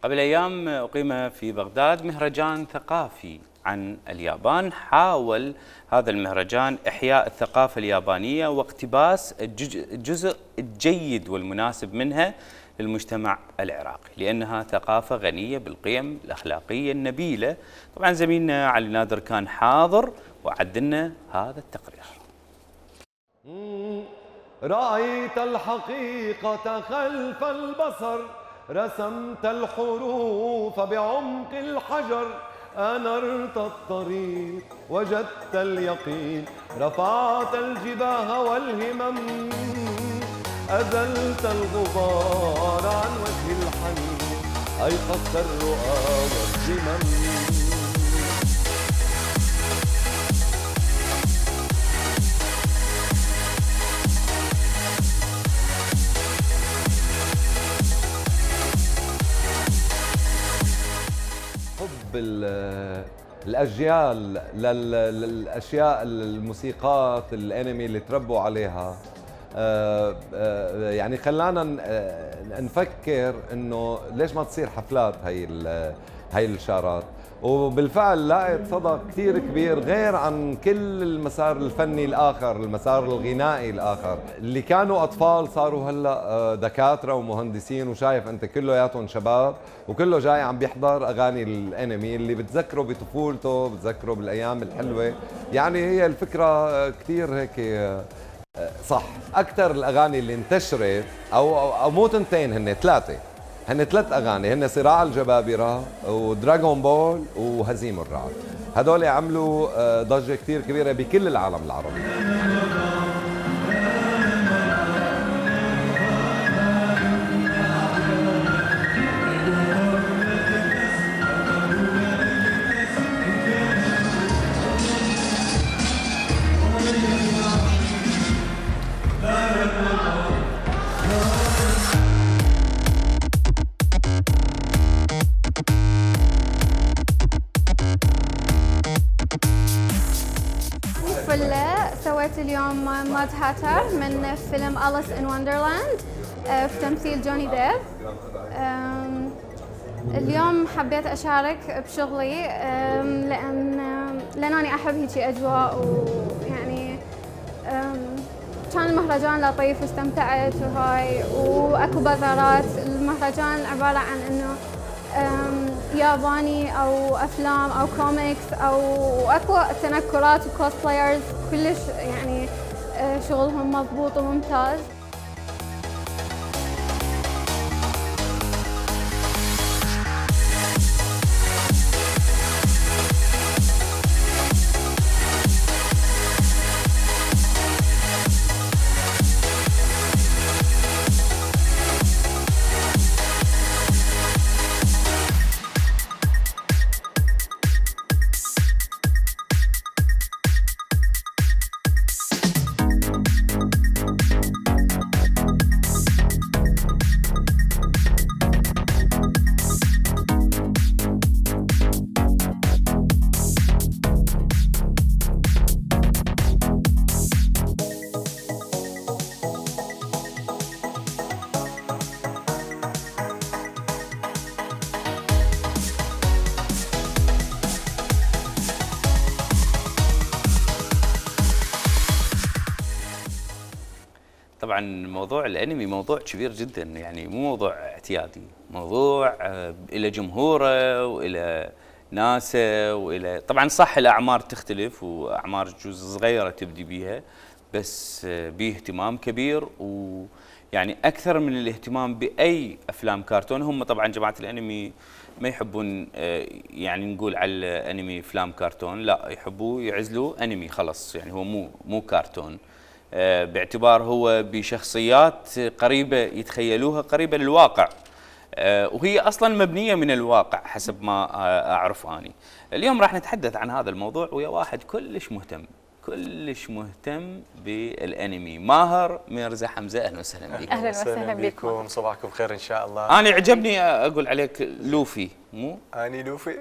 A: قبل أيام أقيم في بغداد مهرجان ثقافي عن اليابان. حاول هذا المهرجان إحياء الثقافة اليابانية واقتباس الجزء الجيد والمناسب منها للمجتمع العراقي، لأنها ثقافة غنية بالقيم الأخلاقية النبيلة. طبعا زميلنا علي نادر كان حاضر وعد لنا هذا التقرير.
F: رأيت الحقيقة خلف البصر، رسمت الحروف بعمق الحجر، أنرت الطريق وجدت اليقين، رفعت الجباه والهمم، أزلت الغبار عن وجه الحنين، أيقظت الرؤى والذمم. حب الأجيال للأشياء الموسيقات الأنمي اللي تربوا عليها يعني خلانا نفكر إنه ليش ما تصير حفلات هاي الشارات، وبالفعل لقت صدى كثير كبير غير عن كل المسار الفني الآخر، المسار الغنائي الآخر. اللي كانوا أطفال صاروا هلأ دكاترة ومهندسين، وشايف أنت كلياتهم شباب وكله جاي عم بيحضر أغاني الأنمي اللي بتذكره بطفولته، بتذكره بالأيام الحلوة. يعني هي الفكرة كثير هيك صح. أكثر الأغاني اللي انتشرت أو مو تنتين، هن 3 أغاني، هن صراع الجبابرة ودراغون بول وهزيم الرعد. هدول عملوا ضجة كثير كبيرة بكل العالم العربي.
G: سويت اليوم ماد هاتر من فيلم أليس إن وندرلاند في تمثيل جوني ديب. اليوم حبيت أشارك بشغلي لأن أنا أحب هيجي أجواء، ويعني كان المهرجان لطيف واستمتعت وهاي، وأكو بازارات. المهرجان عبارة عن إنه ياباني أو أفلام أو كوميكس أو أكو تنكرات وكوسبلايرز كلش، يعني شغلهم مضبوط وممتاز.
A: طبعا موضوع الانمي موضوع كبير جدا، يعني مو موضوع اعتيادي، موضوع الى جمهوره والى ناسه والى طبعا صح الاعمار تختلف واعمار جزء صغيره تبدي بيها، بس بيه اهتمام كبير ويعني اكثر من الاهتمام باي افلام كرتون. هم طبعا جماعه الانمي ما يحبون يعني نقول على الانمي افلام كرتون، لا يحبوا يعزلوا انمي خلص، يعني هو مو كرتون، باعتبار هو بشخصيات قريبه يتخيلوها قريبه للواقع، وهي اصلا مبنيه من الواقع حسب ما اعرف اني. اليوم راح نتحدث عن هذا الموضوع ويا واحد كلش مهتم بالانمي، ماهر ميرزا حمزه. اهلا وسهلا بك.
B: اهلا وسهلا بكم.
H: صباحكم خير ان شاء الله.
A: انا عجبني اقول عليك لوفي، مو
H: اني لوفي؟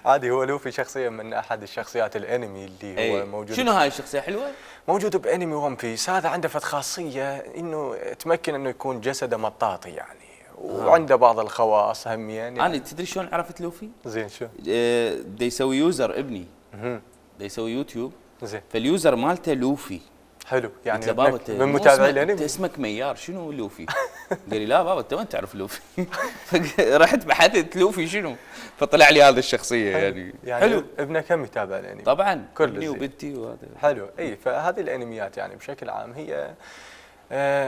H: عادي، هو لوفي شخصيه من احد الشخصيات الانمي اللي هو موجود.
A: شنو هاي الشخصيه حلوه؟
H: موجود بانمي ون بيس. هذا عنده فد خاصيه انه تمكن انه يكون جسده مطاطي يعني، وعنده بعض الخواص هم يعني.
A: انا تدري شلون عرفت لوفي؟
H: زين شو؟
A: دا يسوي يوزر ابني، دا يسوي يوتيوب،
H: زين
A: فاليوزر مالته لوفي.
H: حلو، يعني
A: من
H: متابعي الانمي.
A: انت اسمك ميار، شنو لوفي؟ قال لي لا بابا انت ما تعرف لوفي. فرحت بحثت لوفي شنو، فطلع لي هذه الشخصيه يعني حلو.
H: ابنك كم يتابع الانمي؟
A: طبعا
H: كل
A: ابني وبنتي وهذا
H: حلو. اي فهذه الانميات يعني بشكل عام هي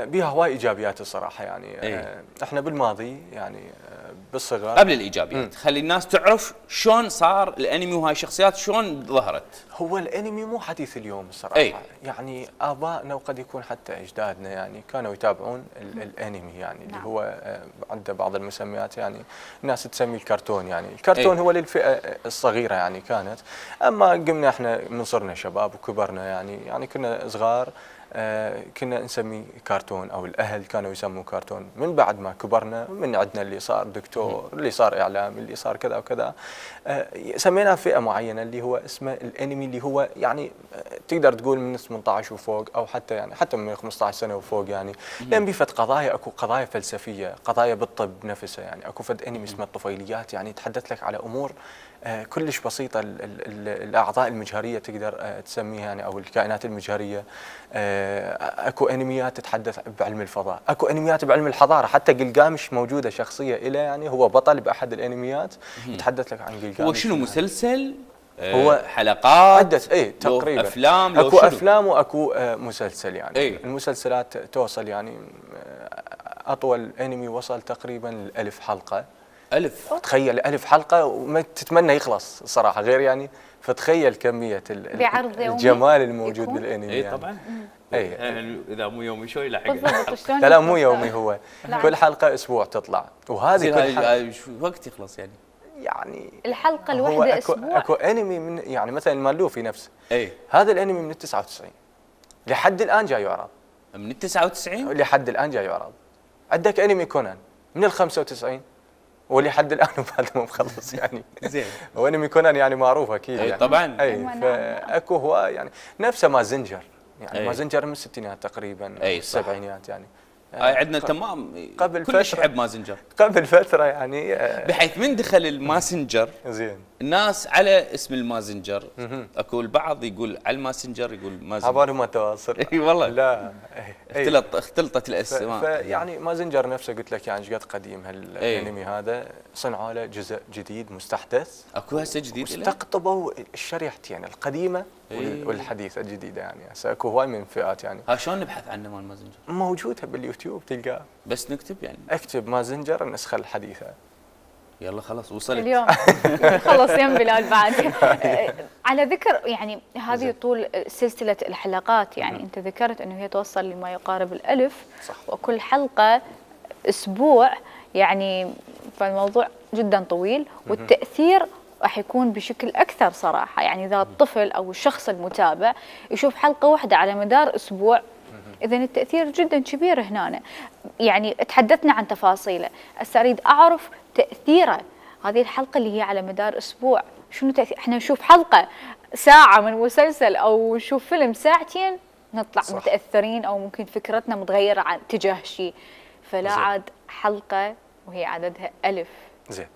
H: بها هواي ايجابيات الصراحه يعني. احنا بالماضي يعني بالصغر
A: قبل الايجابيات خلي الناس تعرف شلون صار الانمي وهاي الشخصيات شلون ظهرت.
H: هو الانمي مو حديث اليوم الصراحه. يعني ابائنا وقد يكون حتى اجدادنا يعني كانوا يتابعون الانمي يعني اللي هو عنده بعض المسميات يعني الناس تسميه الكرتون يعني. الكرتون هو للفئه الصغيره يعني كانت. اما قمنا احنا من صرنا شباب وكبرنا يعني كنا صغار كنا نسمي كرتون او الاهل كانوا يسموا كرتون. من بعد ما كبرنا من عندنا اللي صار دكتور، اللي صار اعلام، اللي صار كذا وكذا، سمينا فئه معينه اللي هو اسمه الانمي، اللي هو يعني تقدر تقول من 18 وفوق او حتى يعني حتى من 15 سنه وفوق يعني. لان بفت قضايا، اكو قضايا فلسفيه، قضايا بالطب نفسه يعني. اكو فد انمي اسمه الطفيليات يعني يتحدث لك على امور كلش بسيطه. الاعضاء المجهريه تقدر تسميها يعني او الكائنات المجهريه. اكو انميات تتحدث بعلم الفضاء، اكو انميات بعلم الحضاره. حتى قلقامش موجوده شخصيه له يعني هو بطل باحد الانميات يتحدث لك عن قلقامش.
A: هو شنو مسلسل؟
H: هو
A: حلقات
H: عدة تقريبا
A: افلام،
H: اكو افلام واكو مسلسل يعني. المسلسلات توصل يعني اطول انمي وصل تقريبا 1000 حلقه.
A: 1000
H: تخيل 1000 حلقه وما تتمنى يخلص صراحه غير يعني. فتخيل كميه الجمال الموجود بالانمي يعني.
A: طبعا يعني اذا مو يومي شوي يلحق.
H: لا مو يومي، هو كل حلقه اسبوع تطلع. وهذه كل حلقه
A: وقت يخلص
H: يعني
B: الحلقه الواحده اسبوع.
H: اكو انمي من يعني مثلا مال لوفي نفسه. هذا الانمي من 99 لحد الان جاي يعرض.
A: من 99
H: لحد الان جاي يعرض. عندك انمي كونان من 95 ولحد الان بعد ما مخلص يعني. زين. وانمي كونان يعني معروف اكيد يعني.
A: طبعا.
H: فاكو هو يعني نفسه مازنجر يعني. مازنجر من الستينات تقريبا، السبعينات يعني.
A: عندنا تمام
H: قبل
A: كلش يحب مازنجر
H: قبل فتره يعني.
A: بحيث من دخل الماسنجر
H: زين
A: الناس على اسم المازنجر. اكو البعض يقول على الماسنجر يقول مازنجر،
H: عبالهم ما تواصل.
A: اي والله
H: لا
A: اختلطت الاسماء.
H: يعني مازنجر نفسه قلت لك يعني قد قديم هالانمي هذا. صنعوا له جزء جديد مستحدث.
A: اكو هسه جديد
H: استقطبوا الشريحتين القديمه والحديثه الجديده يعني. هسه اكو هواي من فئات يعني.
A: ها شلون نبحث عنه مال مازنجر؟
H: موجوده باليوتيوب تلقاه.
A: بس نكتب يعني
H: اكتب مازنجر النسخه الحديثه.
A: يلا خلاص وصلت
B: اليوم. خلص يم بلال بعد. على ذكر يعني هذه طول سلسله الحلقات يعني انت ذكرت انه هي توصل لما يقارب ال1000.
H: صح.
B: وكل حلقه اسبوع يعني. فالموضوع جدا طويل والتاثير راح يكون بشكل اكثر صراحه يعني. اذا الطفل او الشخص المتابع يشوف حلقه واحده على مدار اسبوع اذا التاثير جدا كبير هنا يعني. تحدثنا عن تفاصيله، هسه اريد اعرف تاثيره هذه الحلقه اللي هي على مدار اسبوع. شنو تاثير؟ احنا نشوف حلقه ساعه من مسلسل او نشوف فيلم ساعتين نطلع صح. متاثرين او ممكن فكرتنا متغيره عن تجاه شيء. فلا عاد حلقه وهي عددها 1000.
H: زين.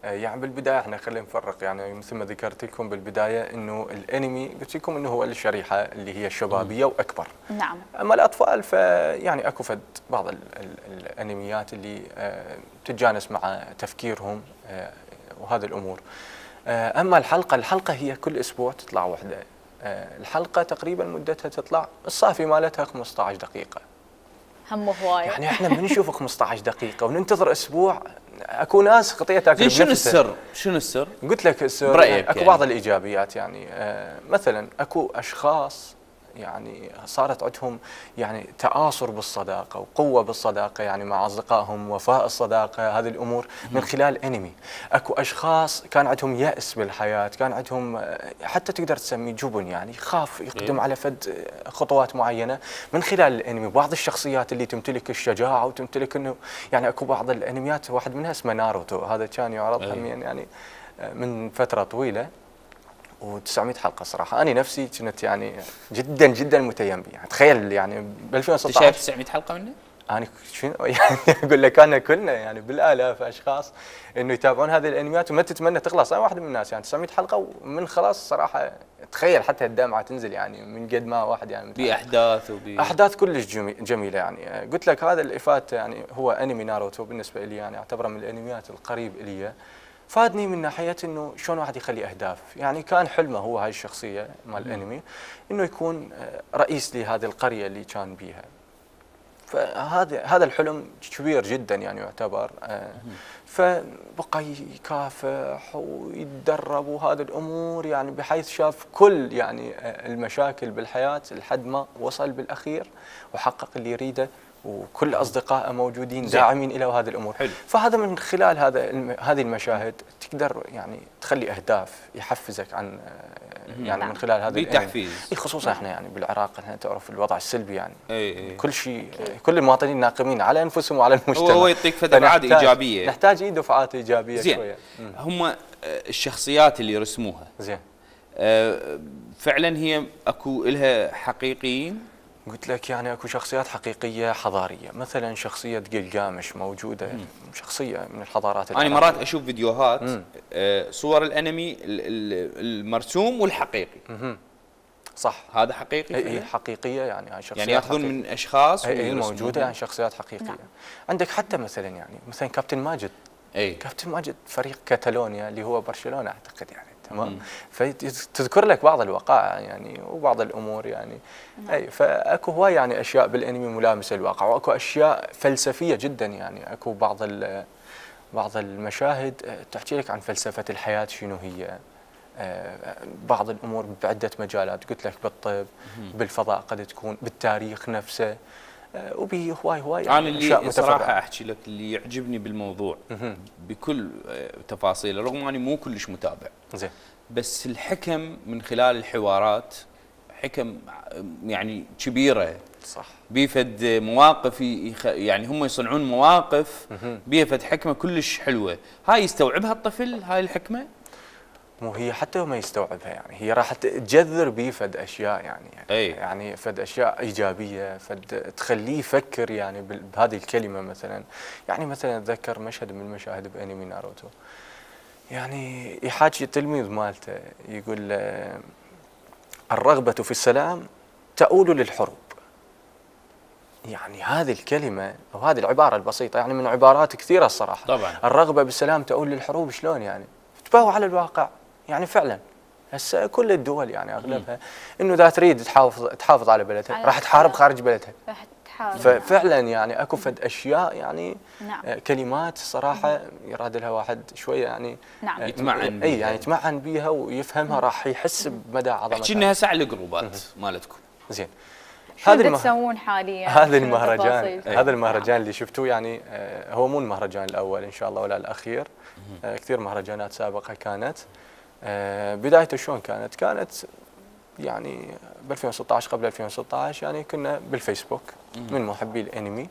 H: يعني بالبدايه احنا خلينا نفرق، يعني مثل ما ذكرت لكم بالبدايه انه الانمي قلت لكم انه هو الشريحه اللي هي الشبابيه واكبر.
B: نعم.
H: اما الاطفال فيعني اكو فد بعض الانميات اللي تتجانس مع تفكيرهم وهذه الامور. اما الحلقه هي كل اسبوع تطلع وحده. الحلقه تقريبا مدتها تطلع الصافي مالتها 15 دقيقه.
B: هم هوايه.
H: يعني احنا بنشوف 15 دقيقه وننتظر اسبوع. اكو ناس خطيه تاكل.
A: شنو السر؟ شنو السر؟
H: قلت لك السر
A: برأيك
H: اكو بعض الايجابيات، يعني مثلا اكو اشخاص يعني صارت عندهم يعني تآصر بالصداقه وقوه بالصداقه، يعني مع اصدقائهم، وفاء الصداقه، هذه الامور من خلال انمي. اكو اشخاص كان عندهم يأس بالحياه، كان عندهم حتى تقدر تسميه جبن، يعني يخاف يقدم على فد خطوات معينه من خلال الانمي. بعض الشخصيات اللي تمتلك الشجاعه وتمتلك انه يعني اكو بعض الانميات واحد منها اسمه ناروتو، هذا كان يعرض يعني من فتره طويله و900 حلقه صراحه. انا نفسي كنت يعني جدا جدا متيم به، يعني تخيل يعني ب 2016
A: شايف 900 حلقه منه؟
H: انا شنو يعني اقول لك انا كلنا يعني بالالاف اشخاص انه يتابعون هذه الانميات وما تتمنى تخلص. انا واحد من الناس يعني 900 حلقه ومن خلاص صراحه تخيل حتى الدمعه تنزل، يعني من قد ما واحد يعني
A: باحداث
H: احداث كلش جميله. يعني قلت لك هذا اللي فات، يعني هو انمي ناروتو بالنسبه لي يعني اعتبره من الانميات القريب الي. فادني من ناحيه انه شلون واحد يخلي اهداف، يعني كان حلمه هو هاي الشخصيه مال الانمي انه يكون رئيس لهذه القريه اللي كان بيها. فهذا الحلم كبير جدا يعني يعتبر. فبقى يكافح ويتدرب وهذه الامور، يعني بحيث شاف كل يعني المشاكل بالحياه لحد ما وصل بالاخير وحقق اللي يريده، وكل اصدقائه موجودين داعمين له وهذه الامور.
A: حلو.
H: فهذا من خلال هذه المشاهد تقدر يعني تخلي اهداف يحفزك عن يعني من خلال هذا
A: التحفيز.
H: خصوصا احنا يعني بالعراق احنا تعرف الوضع السلبي، يعني كل شيء
B: أوكي.
H: كل المواطنين ناقمين على انفسهم وعلى المجتمع.
A: هو يعطيك دفعات ايجابيه،
H: نحتاج دفعات ايجابيه
A: زين.
H: شويه.
A: هم الشخصيات اللي رسموها
H: زين
A: فعلا هي اكو لها حقيقيين؟
H: قلت لك يعني اكو شخصيات حقيقيه حضاريه، مثلا شخصيه قلقامش موجوده. شخصيه من الحضارات
A: انا مرات اشوف فيديوهات صور الانمي المرسوم والحقيقي.
H: صح،
A: هذا حقيقي؟
H: هي حقيقيه، يعني هاي شخصيات
A: يعني ياخذون من اشخاص
H: هي موجوده، يعني شخصيات حقيقيه. نعم. عندك حتى مثلا يعني مثلا كابتن ماجد. كابتن ماجد فريق كاتالونيا اللي هو برشلونه اعتقد، يعني تمام. فتذكر لك بعض الوقائع يعني وبعض الامور يعني. فاكو هواي يعني اشياء بالانمي ملامسه للواقع، واكو اشياء فلسفيه جدا، يعني اكو بعض المشاهد تحكي لك عن فلسفه الحياه شنو هي. بعض الامور بعده مجالات، قلت لك بالطب، بالفضاء، قد تكون بالتاريخ نفسه، وبه هواي
A: يعني اللي صراحه احكي لك اللي يعجبني بالموضوع بكل تفاصيله، رغم اني مو كلش متابع
H: زين،
A: بس الحكم من خلال الحوارات حكم يعني كبيره.
H: صح.
A: بيفد مواقف يعني هم يصنعون مواقف بيفد حكمه كلش حلوه. هاي يستوعبها الطفل هاي الحكمه؟
H: مو هي حتى ما يستوعبها، يعني هي راح تجذر بيه فد اشياء يعني فد اشياء ايجابيه، فد تخليه يفكر يعني بهذه الكلمه. مثلا يعني مثلا اتذكر مشهد من المشاهد بانمي ناروتو، يعني يحاكي التلميذ مالته يقول الرغبه في السلام تؤول للحروب. يعني هذه الكلمه او هذه العباره البسيطه، يعني من عبارات كثيره الصراحه
A: طبعا.
H: الرغبه بالسلام تؤول للحروب، شلون يعني؟ تباهوا على الواقع. يعني فعلا هسه كل الدول يعني اغلبها انه اذا تريد تحافظ على بلدها راح تحارب خارج بلدها.
B: راح تحارب.
H: ففعلا يعني اكو فد اشياء يعني
B: نعم.
H: كلمات صراحه يراد لها واحد شويه يعني
B: نعم.
H: يتمعن بيها. يعني يتمعن بيها ويفهمها راح يحس بمدى عظمتها.
A: احكي لنا هسه على الجروبات مالتكم.
H: زين.
B: هذا تسوون حاليا؟
H: هذا المهرجان اللي شفتوه يعني هو مو المهرجان الاول ان شاء الله ولا الاخير. كثير مهرجانات سابقه كانت. بدايته شلون كانت يعني ب 2016 قبل 2016 يعني كنا بالفيسبوك من محبي الانمي،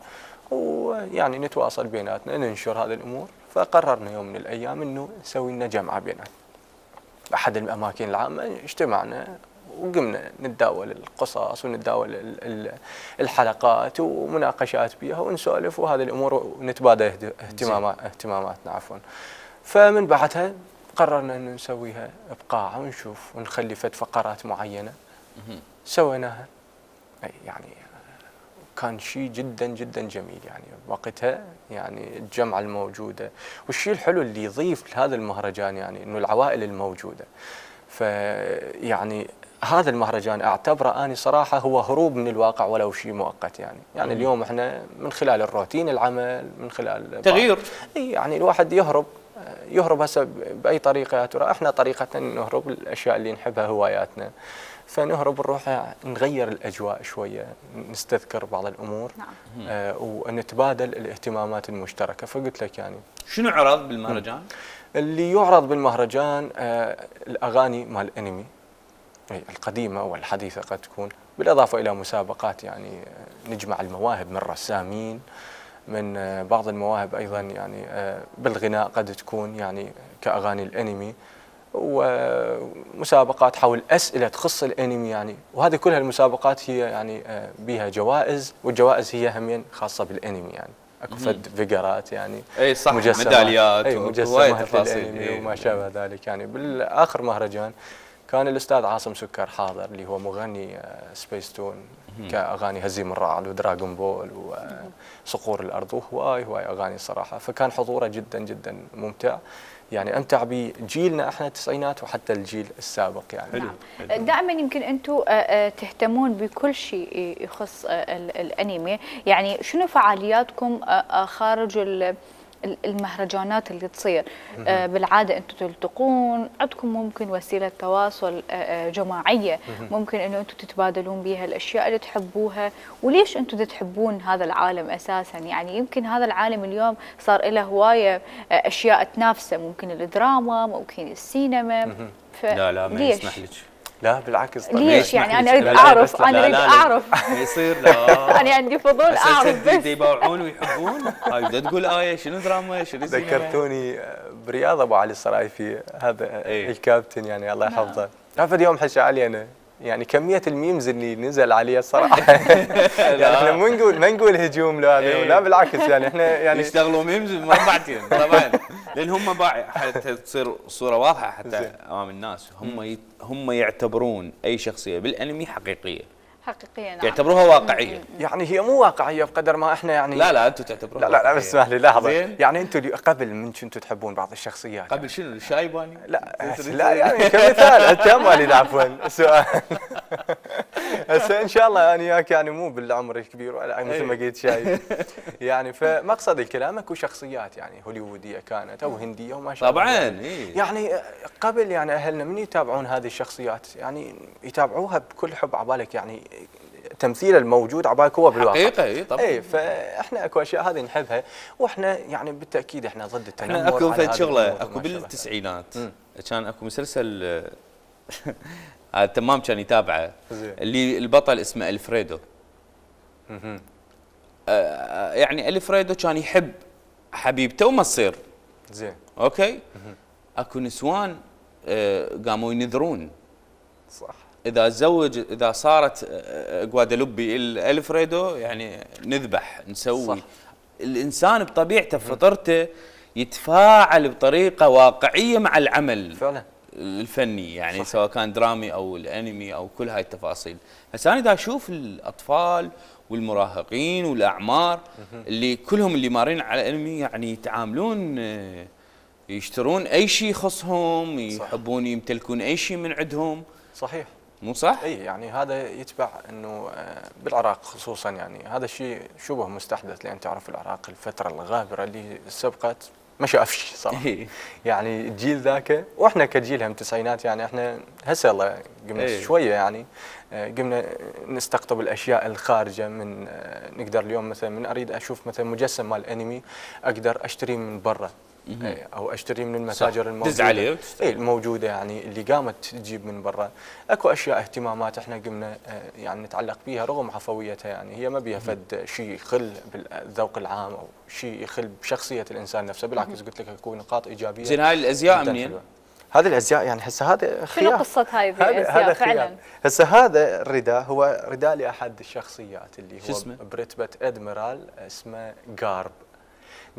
H: ويعني نتواصل بيناتنا ننشر هذه الامور. فقررنا يوم من الايام انه نسوي لنا جمعه بيناتنا احد الاماكن العامه. اجتمعنا وقمنا نتداول القصص ونتداول الحلقات ومناقشات بها ونسولف وهذه الامور ونتبادل اهتماماتنا عفوا. فمن بعدها قررنا انه نسويها بقاعه ونشوف ونخلي فد فقرات معينه. سويناها يعني كان شيء جدا جدا جميل يعني وقتها، يعني الجمعه الموجوده والشيء الحلو اللي يضيف لهذا المهرجان يعني انه العوائل الموجوده. فيعني هذا المهرجان اعتبره اني صراحه هو هروب من الواقع ولو شيء مؤقت يعني اليوم احنا من خلال الروتين العمل من خلال
A: تغيير
H: يعني الواحد يهرب هسه باي طريقه، ترى احنا طريقتنا نهرب الاشياء اللي نحبها هواياتنا، فنهرب نروح نغير الاجواء شويه، نستذكر بعض الامور. نعم. ونتبادل الاهتمامات المشتركه. فقلت لك يعني
A: شنو عرض بالمهرجان؟
H: اللي يعرض بالمهرجان الاغاني مال الانمي القديمه والحديثه قد تكون، بالاضافه الى مسابقات يعني نجمع المواهب من رسامين، من بعض المواهب ايضا يعني بالغناء قد تكون يعني كاغاني الانمي، ومسابقات حول اسئله تخص الانمي يعني، وهذه كلها المسابقات هي يعني بها جوائز، والجوائز هي همين خاصه بالانمي يعني. اكو فد فيجرات يعني
A: اي صح، ميداليات
H: ومجسمات الانمي وما شابه ذلك يعني. بالاخر مهرجان كان الاستاذ عاصم سكر حاضر اللي هو مغني سبيس تون كاغاني هزيم الرعد ودراغون بول وصقور الارض وهواي اغاني صراحه. فكان حضوره جدا جدا ممتع يعني، امتع بجيلنا احنا التسعينات وحتى الجيل السابق يعني.
B: نعم. دائما يمكن انتم تهتمون بكل شيء يخص الانمي، يعني شنو فعالياتكم خارج المهرجانات اللي تصير؟ بالعاده انتم تلتقون، عندكم ممكن وسيله تواصل جماعيه ممكن انه انتم تتبادلون بها الاشياء اللي تحبوها، وليش انتم تحبون هذا العالم اساسا؟ يعني يمكن هذا العالم اليوم صار له هوايه اشياء تنافسه، ممكن الدراما، ممكن السينما.
A: لا ما يسمح لك.
H: لا بالعكس.
B: ليش يعني؟ انا اريد اعرف، انا اريد اعرف.
A: ما يصير. لا
B: انا عندي فضول اعرف بس.
A: يباوعون ويحبون. هاي بدها تقول ايه شنو دراما شنو سينما.
H: ذكرتوني برياض ابو علي الصرايفي هذا الكابتن يعني الله يحفظه. تعرف اليوم حكى علي انا يعني كميه الميمز اللي نزل عليه الصراحه. يعني احنا ما نقول هجوم له، لا بالعكس يعني احنا يعني
A: يشتغلوا ميمز مربعتين طبعا، لان هم حتى تصير صوره واضحه حتى امام الناس، هم يعتبرون اي شخصيه بالانمي حقيقيه.
B: نعم.
A: يعتبروها واقعيه.
H: يعني هي مو واقعيه بقدر ما احنا يعني
A: لا انتم تعتبروها
H: لا بس اسمح لي لحظه. يعني انتم قبل من كنتوا تحبون بعض الشخصيات
A: قبل شنو الشايباني؟
H: لا يعني كمثال التامالي عفوا سؤال. هسه ان شاء الله انا وياك يعني مو بالعمر الكبير ولا مثل ما قلت شايب يعني. فمقصد الكلام اكو شخصيات يعني هوليووديه كانت او هنديه وما شاء الله
A: طبعا
H: يعني قبل يعني اهلنا من يتابعون هذه الشخصيات يعني يتابعوها بكل حب عبالك يعني تمثيل الموجود عبالك هو بالواقع
A: حقيقه. طبعا
H: فاحنا اكو اشياء هذه نحبها، واحنا يعني بالتاكيد احنا ضد التنمر.
A: احنا اكو فد شغله اكو بالتسعينات كان اكو مسلسل تمام كان يتابعه اللي البطل اسمه الفريدو. يعني الفريدو كان يحب حبيبته وما تصير
H: زين
A: اوكي. اكو نسوان قاموا ينذرون
H: صح
A: اذا تزوج اذا صارت غوادالوبي الفريدو يعني نذبح نسوي صح. الانسان بطبيعته بفطرته يتفاعل بطريقه واقعيه مع العمل
H: فعلا
A: الفني يعني
H: صح.
A: سواء كان درامي او الانمي او كل هاي التفاصيل. هسه انا دا اشوف الاطفال والمراهقين والاعمار اللي كلهم اللي مارين على الانمي يعني يتعاملون يشترون اي شيء يخصهم، يحبون يمتلكون اي شيء من عندهم.
H: صحيح
A: مو صح؟
H: اي يعني هذا يتبع انه بالعراق خصوصا يعني هذا الشيء شبه مستحدث، لان تعرف العراق الفتره الغابره اللي سبقت ما شافش صراحه. يعني الجيل ذاك واحنا كجيل هم التسعينات يعني احنا هسه الله قمنا شويه يعني قمنا نستقطب الاشياء الخارجه من نقدر اليوم مثلا من اريد اشوف مثلا مجسم مال انمي اقدر اشتريه من برا او اشتري من المتاجر الموجوده الموجوده يعني اللي قامت تجيب من برا. اكو اشياء اهتمامات احنا قمنا يعني نتعلق بها رغم عفويتها يعني هي ما بيها فد شيء يخل بالذوق العام او شيء يخل بشخصيه الانسان نفسه، بالعكس قلت لك اكو نقاط ايجابيه.
A: زين هاي الازياء منين؟
H: هذه الازياء يعني هسه هذا خيار.
B: شنو قصه هاي الازياء فعلا؟
H: هسه هذا الرداء هو رداء لاحد الشخصيات اللي هو
A: اسمه؟
H: برتبه ادميرال اسمه غارب.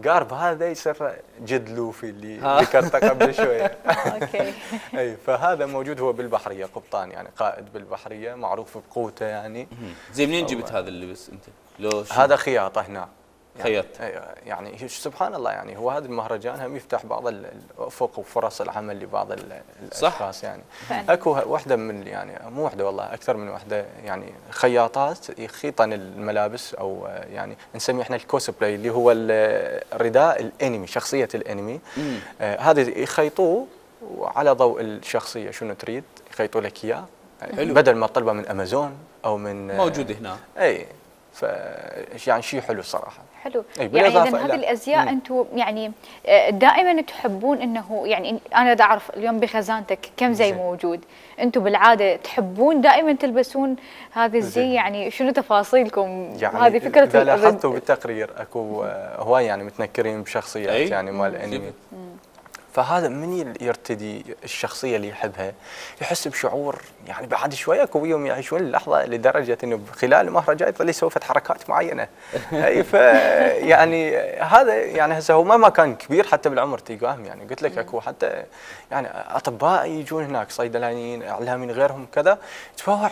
H: قارب هذا يصير جد لوفي اللي ذكرته قبل شويه.
B: اوكي.
H: اي فهذا موجود هو بالبحريه، قبطان يعني قائد بالبحريه معروف بقوته يعني.
A: زين منين جبت هذا اللبس انت؟ لو
H: هذا خياطه هنا
A: خيط
H: يعني سبحان الله يعني هو هذا المهرجان هم يفتح بعض الافق وفرص العمل لبعض الاشخاص يعني. اكو وحده من يعني مو وحده والله اكثر من وحده يعني خياطات يخيطن الملابس او يعني نسميه احنا الكوسبلاي اللي هو الرداء الانمي، شخصيه الانمي. هذا يخيطوه وعلى ضوء الشخصيه شنو تريد يخيطوا لك اياه بدل ما تطلبه من امازون او من
A: موجود هنا.
H: اي يعني شيء حلو الصراحه.
B: حلو. يعني اذا هذه الازياء انتم يعني دائما تحبون انه يعني انا دا اعرف اليوم بخزانتك كم زي موجود، انتم بالعاده تحبون دائما تلبسون هذا الزي، يعني شنو تفاصيلكم؟
H: يعني
B: هذه فكره
H: اذا لاحظتوا بالتقرير اكو هواي يعني متنكرين بشخصيات يعني مال الانمي. فهذا من يرتدي الشخصيه اللي يحبها يحس بشعور يعني بعد شويه اكو يوم يعيشون اللحظه لدرجه انه خلال المهرجان يظل يسوي حركات معينه. اي يعني هذا يعني هسه هو ما كان كبير حتى بالعمر تلقاهم يعني قلت لك اكو حتى يعني اطباء يجون هناك، صيدلانيين، اعلاميين، غيرهم كذا تفوع.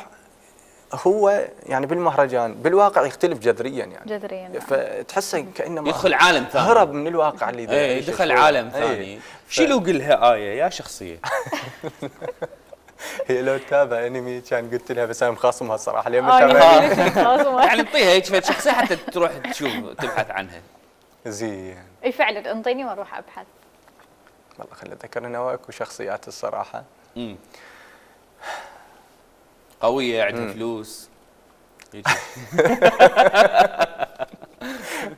H: هو يعني بالمهرجان بالواقع يختلف جذريا يعني
B: جذريا
H: فتحسه كانما
A: يدخل عالم ثاني،
H: هرب من الواقع اللي
A: يدخل عالم ثاني. شيلوا قلها آية يا شخصية.
H: هي لو تتابع انمي كان قلت لها بس انا مخاصمها الصراحه ليه
A: يعني انطيها هيك فد شخصيه حتى تروح تشوف تبحث عنها.
H: زين
B: اي فعلا انطيني واروح ابحث.
H: والله خلي اتذكر انا اكو شخصيات الصراحه
A: قويه عندها فلوس.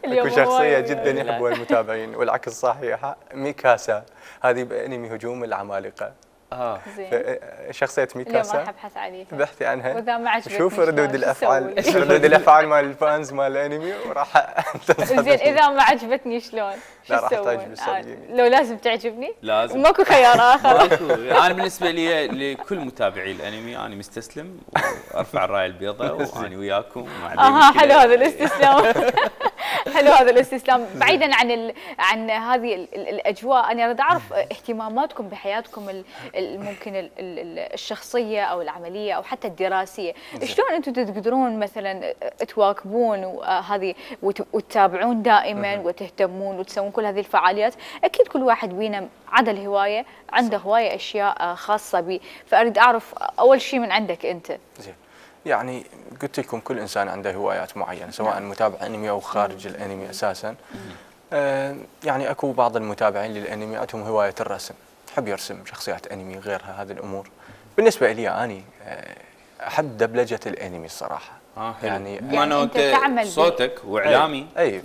H: اكو شخصيه جدا يحبوها المتابعين والعكس صحيح، ميكاسا هذه بانمي هجوم العمالقه.
B: زين.
H: شخصية ميكاسا
B: اليوم راح ابحث عليها
H: بحثي عنها
B: واذا ما عجبتني
H: شوف ردود الافعال مال الفانز مال الانمي وراح
B: زين اذا ما عجبتني شلون؟
H: لا راح تعجب
B: لو لازم تعجبني؟
A: لازم
B: ماكو خيار اخر.
A: انا بالنسبه لي لكل متابعي الانمي انا مستسلم وارفع الرايه البيضاء وانا وياكم
B: حلو هذا الاستسلام. حلو هذا الاستسلام. بعيدا عن هذه الاجواء انا اريد اعرف اهتماماتكم بحياتكم ممكن الشخصيه او العمليه او حتى الدراسيه، شلون انتم تقدرون مثلا تواكبون هذه وتتابعون دائما وتهتمون وتسوون كل هذه الفعاليات؟ اكيد كل واحد بينا عدا الهوايه عنده هوايه اشياء خاصه به، فاريد اعرف اول شيء من عندك انت.
H: زين يعني قلت لكم كل انسان عنده هوايات معينه سواء متابع انمي او خارج الانمي اساسا. يعني اكو بعض المتابعين للانمي عندهم هوايه الرسم، يحب يرسم شخصيات انمي غيرها هذه الامور. بالنسبه لي اني احب دبلجه الانمي الصراحه.
A: يعني ما انت صوتك واعلامي.
H: اي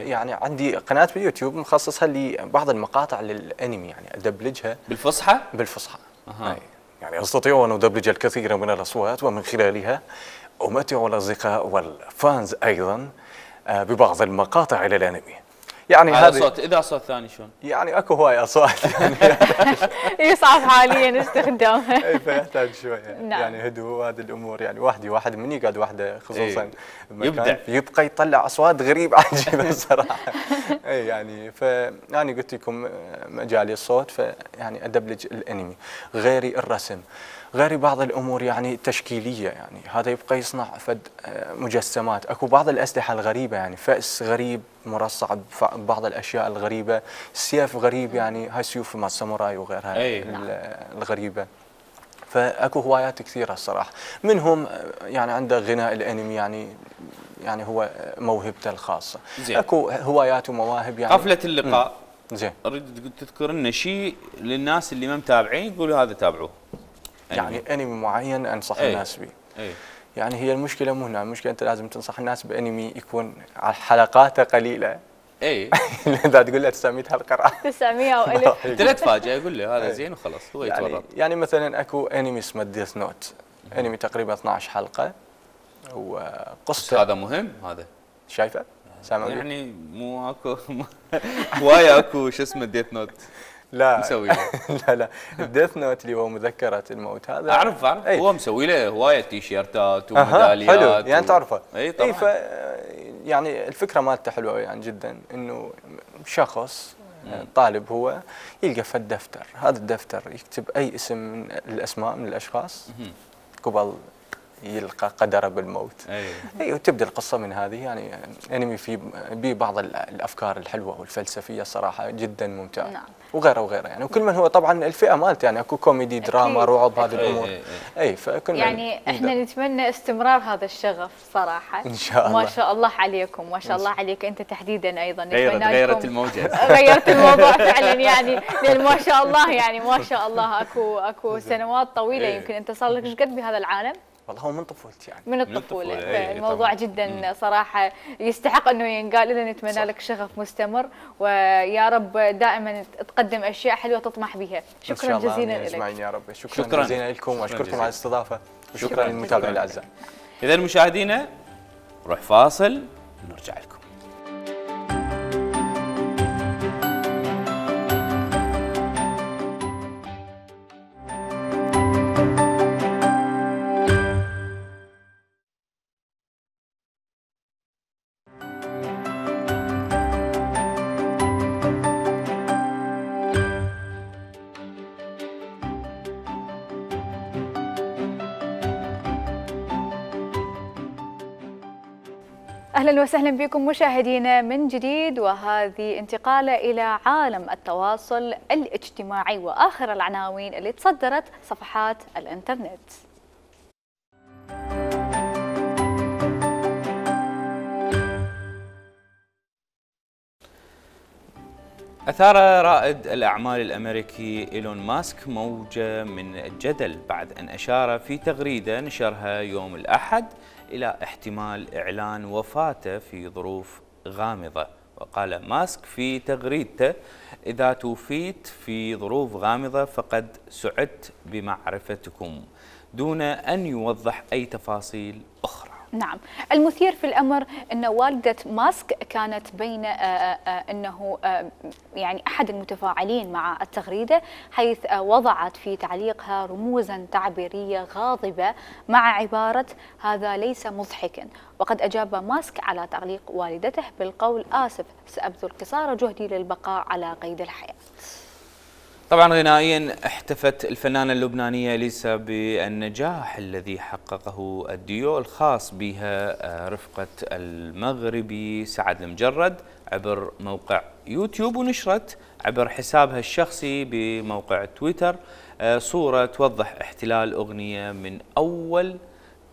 H: يعني عندي قناه باليوتيوب مخصصها لبعض المقاطع للانمي يعني ادبلجها
A: بالفصحى.
H: يعني استطيع ان ادبلج الكثير من الاصوات ومن خلالها امتع الاصدقاء والفانز ايضا ببعض المقاطع للانمي. يعني
A: هذا صوت اذا صوت ثاني شلون؟
H: يعني اكو هواي اصوات يعني
B: يصعب حاليا استخدامها.
H: فيحتاج شويه يعني هدوء هذه الامور يعني واحد من يقعد وحده خصوصا يبقى يطلع اصوات غريبه عجيبه الصراحه. اي يعني فانا قلت لكم مجالي الصوت فيعني ادبلج الانمي، غيري الرسم، غير بعض الامور يعني تشكيليه يعني هذا يبقى يصنع فد مجسمات. اكو بعض الاسلحه الغريبه يعني فأس غريب مرصع ببعض الاشياء الغريبه، سيف غريب يعني هاي سيوف مع الساموراي وغيرها الغريبه. فاكو هوايات كثيره الصراحه، منهم يعني عنده غناء الانمي يعني هو موهبته الخاصه.
A: زين.
H: اكو هوايات ومواهب يعني.
A: حفله اللقاء
H: زين
A: اريد تذكر لنا شيء للناس اللي ما متابعين يقولوا هذا تابعوه.
H: يعني انمي معين انصح الناس به. يعني هي المشكله مو هنا، المشكله انت لازم تنصح الناس بانمي يكون حلقاته قليله. اذا تقول له 900 حلقه راح
B: 900 او 1000
A: انت لا تفاجئ، يقول له هذا زين وخلاص هو يتورط.
H: يعني مثلا اكو انمي اسمه ديث نوت، انمي تقريبا 12 حلقه وقصته.
A: هذا مهم هذا
H: شايفه؟ سامع
A: يعني مو اكو هوايه اكو شو اسمه ديث نوت.
H: لا
A: مسوي
H: لا الديث نوت اللي هو مذكرة الموت هذا
A: اعرف هو مسوي له هوايه تيشيرتات وميداليات
H: حلو يعني تعرفه.
A: اي طبعا.
H: يعني الفكره مالته حلوه يعني جدا، انه شخص طالب هو يلقى فد دفتر، هذا الدفتر يكتب اي اسم من الاسماء من الاشخاص قبل يلقى قدره بالموت. اي وتبدا القصه من هذه. يعني انمي في بعض الافكار الحلوه والفلسفيه الصراحه جدا ممتعه.
B: نعم.
H: وغيره وغيره يعني، وكل من هو طبعا الفئه مالته يعني اكو كوميدي دراما رعب هذه الامور. اي فكل
B: يعني احنا نتمنى استمرار هذا الشغف صراحه
H: ان شاء الله.
B: ما شاء الله عليكم، ما شاء الله عليك انت تحديدا ايضا.
A: غيرت الموجه.
B: غيرت الموضوع فعلا يعني، لان ما شاء الله يعني ما شاء الله اكو سنوات طويله يمكن انت صار لك ايش قد بهذا العالم؟
H: والله هو من طفولتي يعني.
B: من الطفولة. فالموضوع جدا صراحة يستحق أنه ينقال لنا. نتمنى لك شغف مستمر، ويا رب دائما تقدم أشياء حلوة تطمح بها. شكرا جزيلا لك.
H: أجمعين يا رب. شكرا جزيلا لكم، وأشكركم على الاستضافة، وشكرا للمتابعين الأعزاء.
A: إذا مشاهدينا نروح فاصل ونرجع لكم.
B: أهلا وسهلا بكم مشاهدينا من جديد، وهذه انتقالة إلى عالم التواصل الاجتماعي وآخر العناوين اللي تصدرت صفحات الإنترنت.
A: أثار رائد الأعمال الأمريكي إيلون ماسك موجة من الجدل بعد أن أشار في تغريدة نشرها يوم الأحد إلى احتمال إعلان وفاته في ظروف غامضة. وقال ماسك في تغريدته: إذا توفيت في ظروف غامضة فقد سعدت بمعرفتكم، دون أن يوضح أي تفاصيل أخرى.
B: نعم، المثير في الأمر أن والدة ماسك كانت بين أنه يعني أحد المتفاعلين مع التغريدة، حيث وضعت في تعليقها رموزا تعبيرية غاضبة مع عبارة "هذا ليس مضحكا". وقد أجاب ماسك على تعليق والدته بالقول: "آسف، سأبذل قصارى جهدي للبقاء على قيد الحياة".
A: طبعا غنائيا احتفت الفنانة اللبنانية إليسا بالنجاح الذي حققه الديو الخاص بها رفقة المغربي سعد المجرد عبر موقع يوتيوب، ونشرت عبر حسابها الشخصي بموقع تويتر صورة توضح احتلال أغنية من أول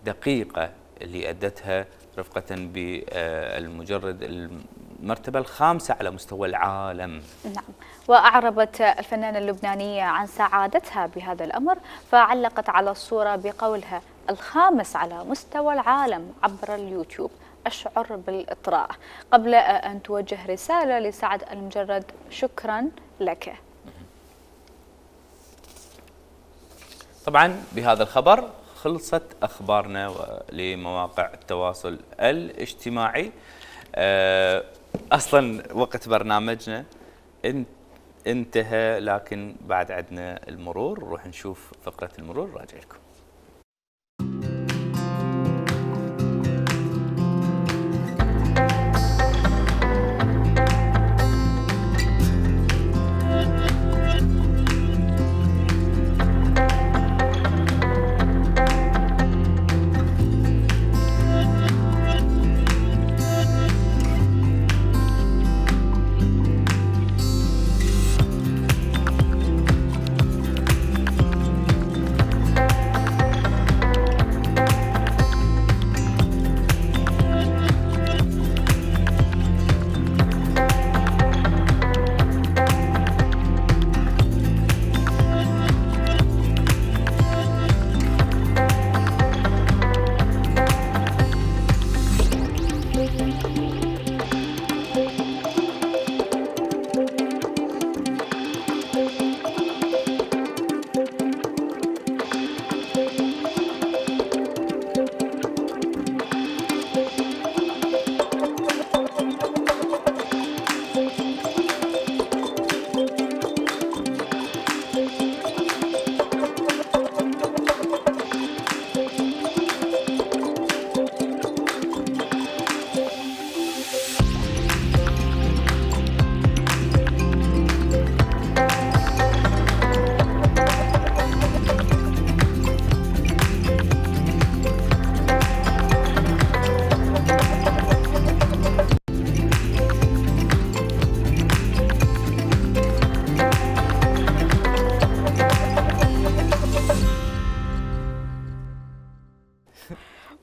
A: دقيقة اللي أدتها رفقة بالمجرد المرتبة الخامسة على مستوى العالم.
B: نعم، وأعربت الفنانة اللبنانية عن سعادتها بهذا الأمر، فعلقت على الصورة بقولها: "الخامس على مستوى العالم عبر اليوتيوب، أشعر بالإطراء". قبل أن توجه رسالة لسعد المجرد: "شكرا لك".
A: طبعا بهذا الخبر خلصت أخبارنا لمواقع التواصل الاجتماعي. أصلا وقت برنامجنا انتهى، لكن بعد عندنا المرور، نروح نشوف فقرة المرور، راجع لكم.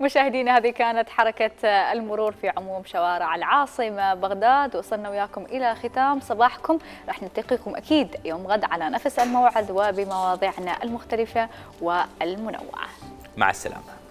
B: مشاهدينا هذه كانت حركة المرور في عموم شوارع العاصمة بغداد، وصلنا وياكم إلى ختام صباحكم. راح نلتقيكم أكيد يوم غد على نفس الموعد وبمواضيعنا المختلفة والمنوعة.
A: مع السلامة.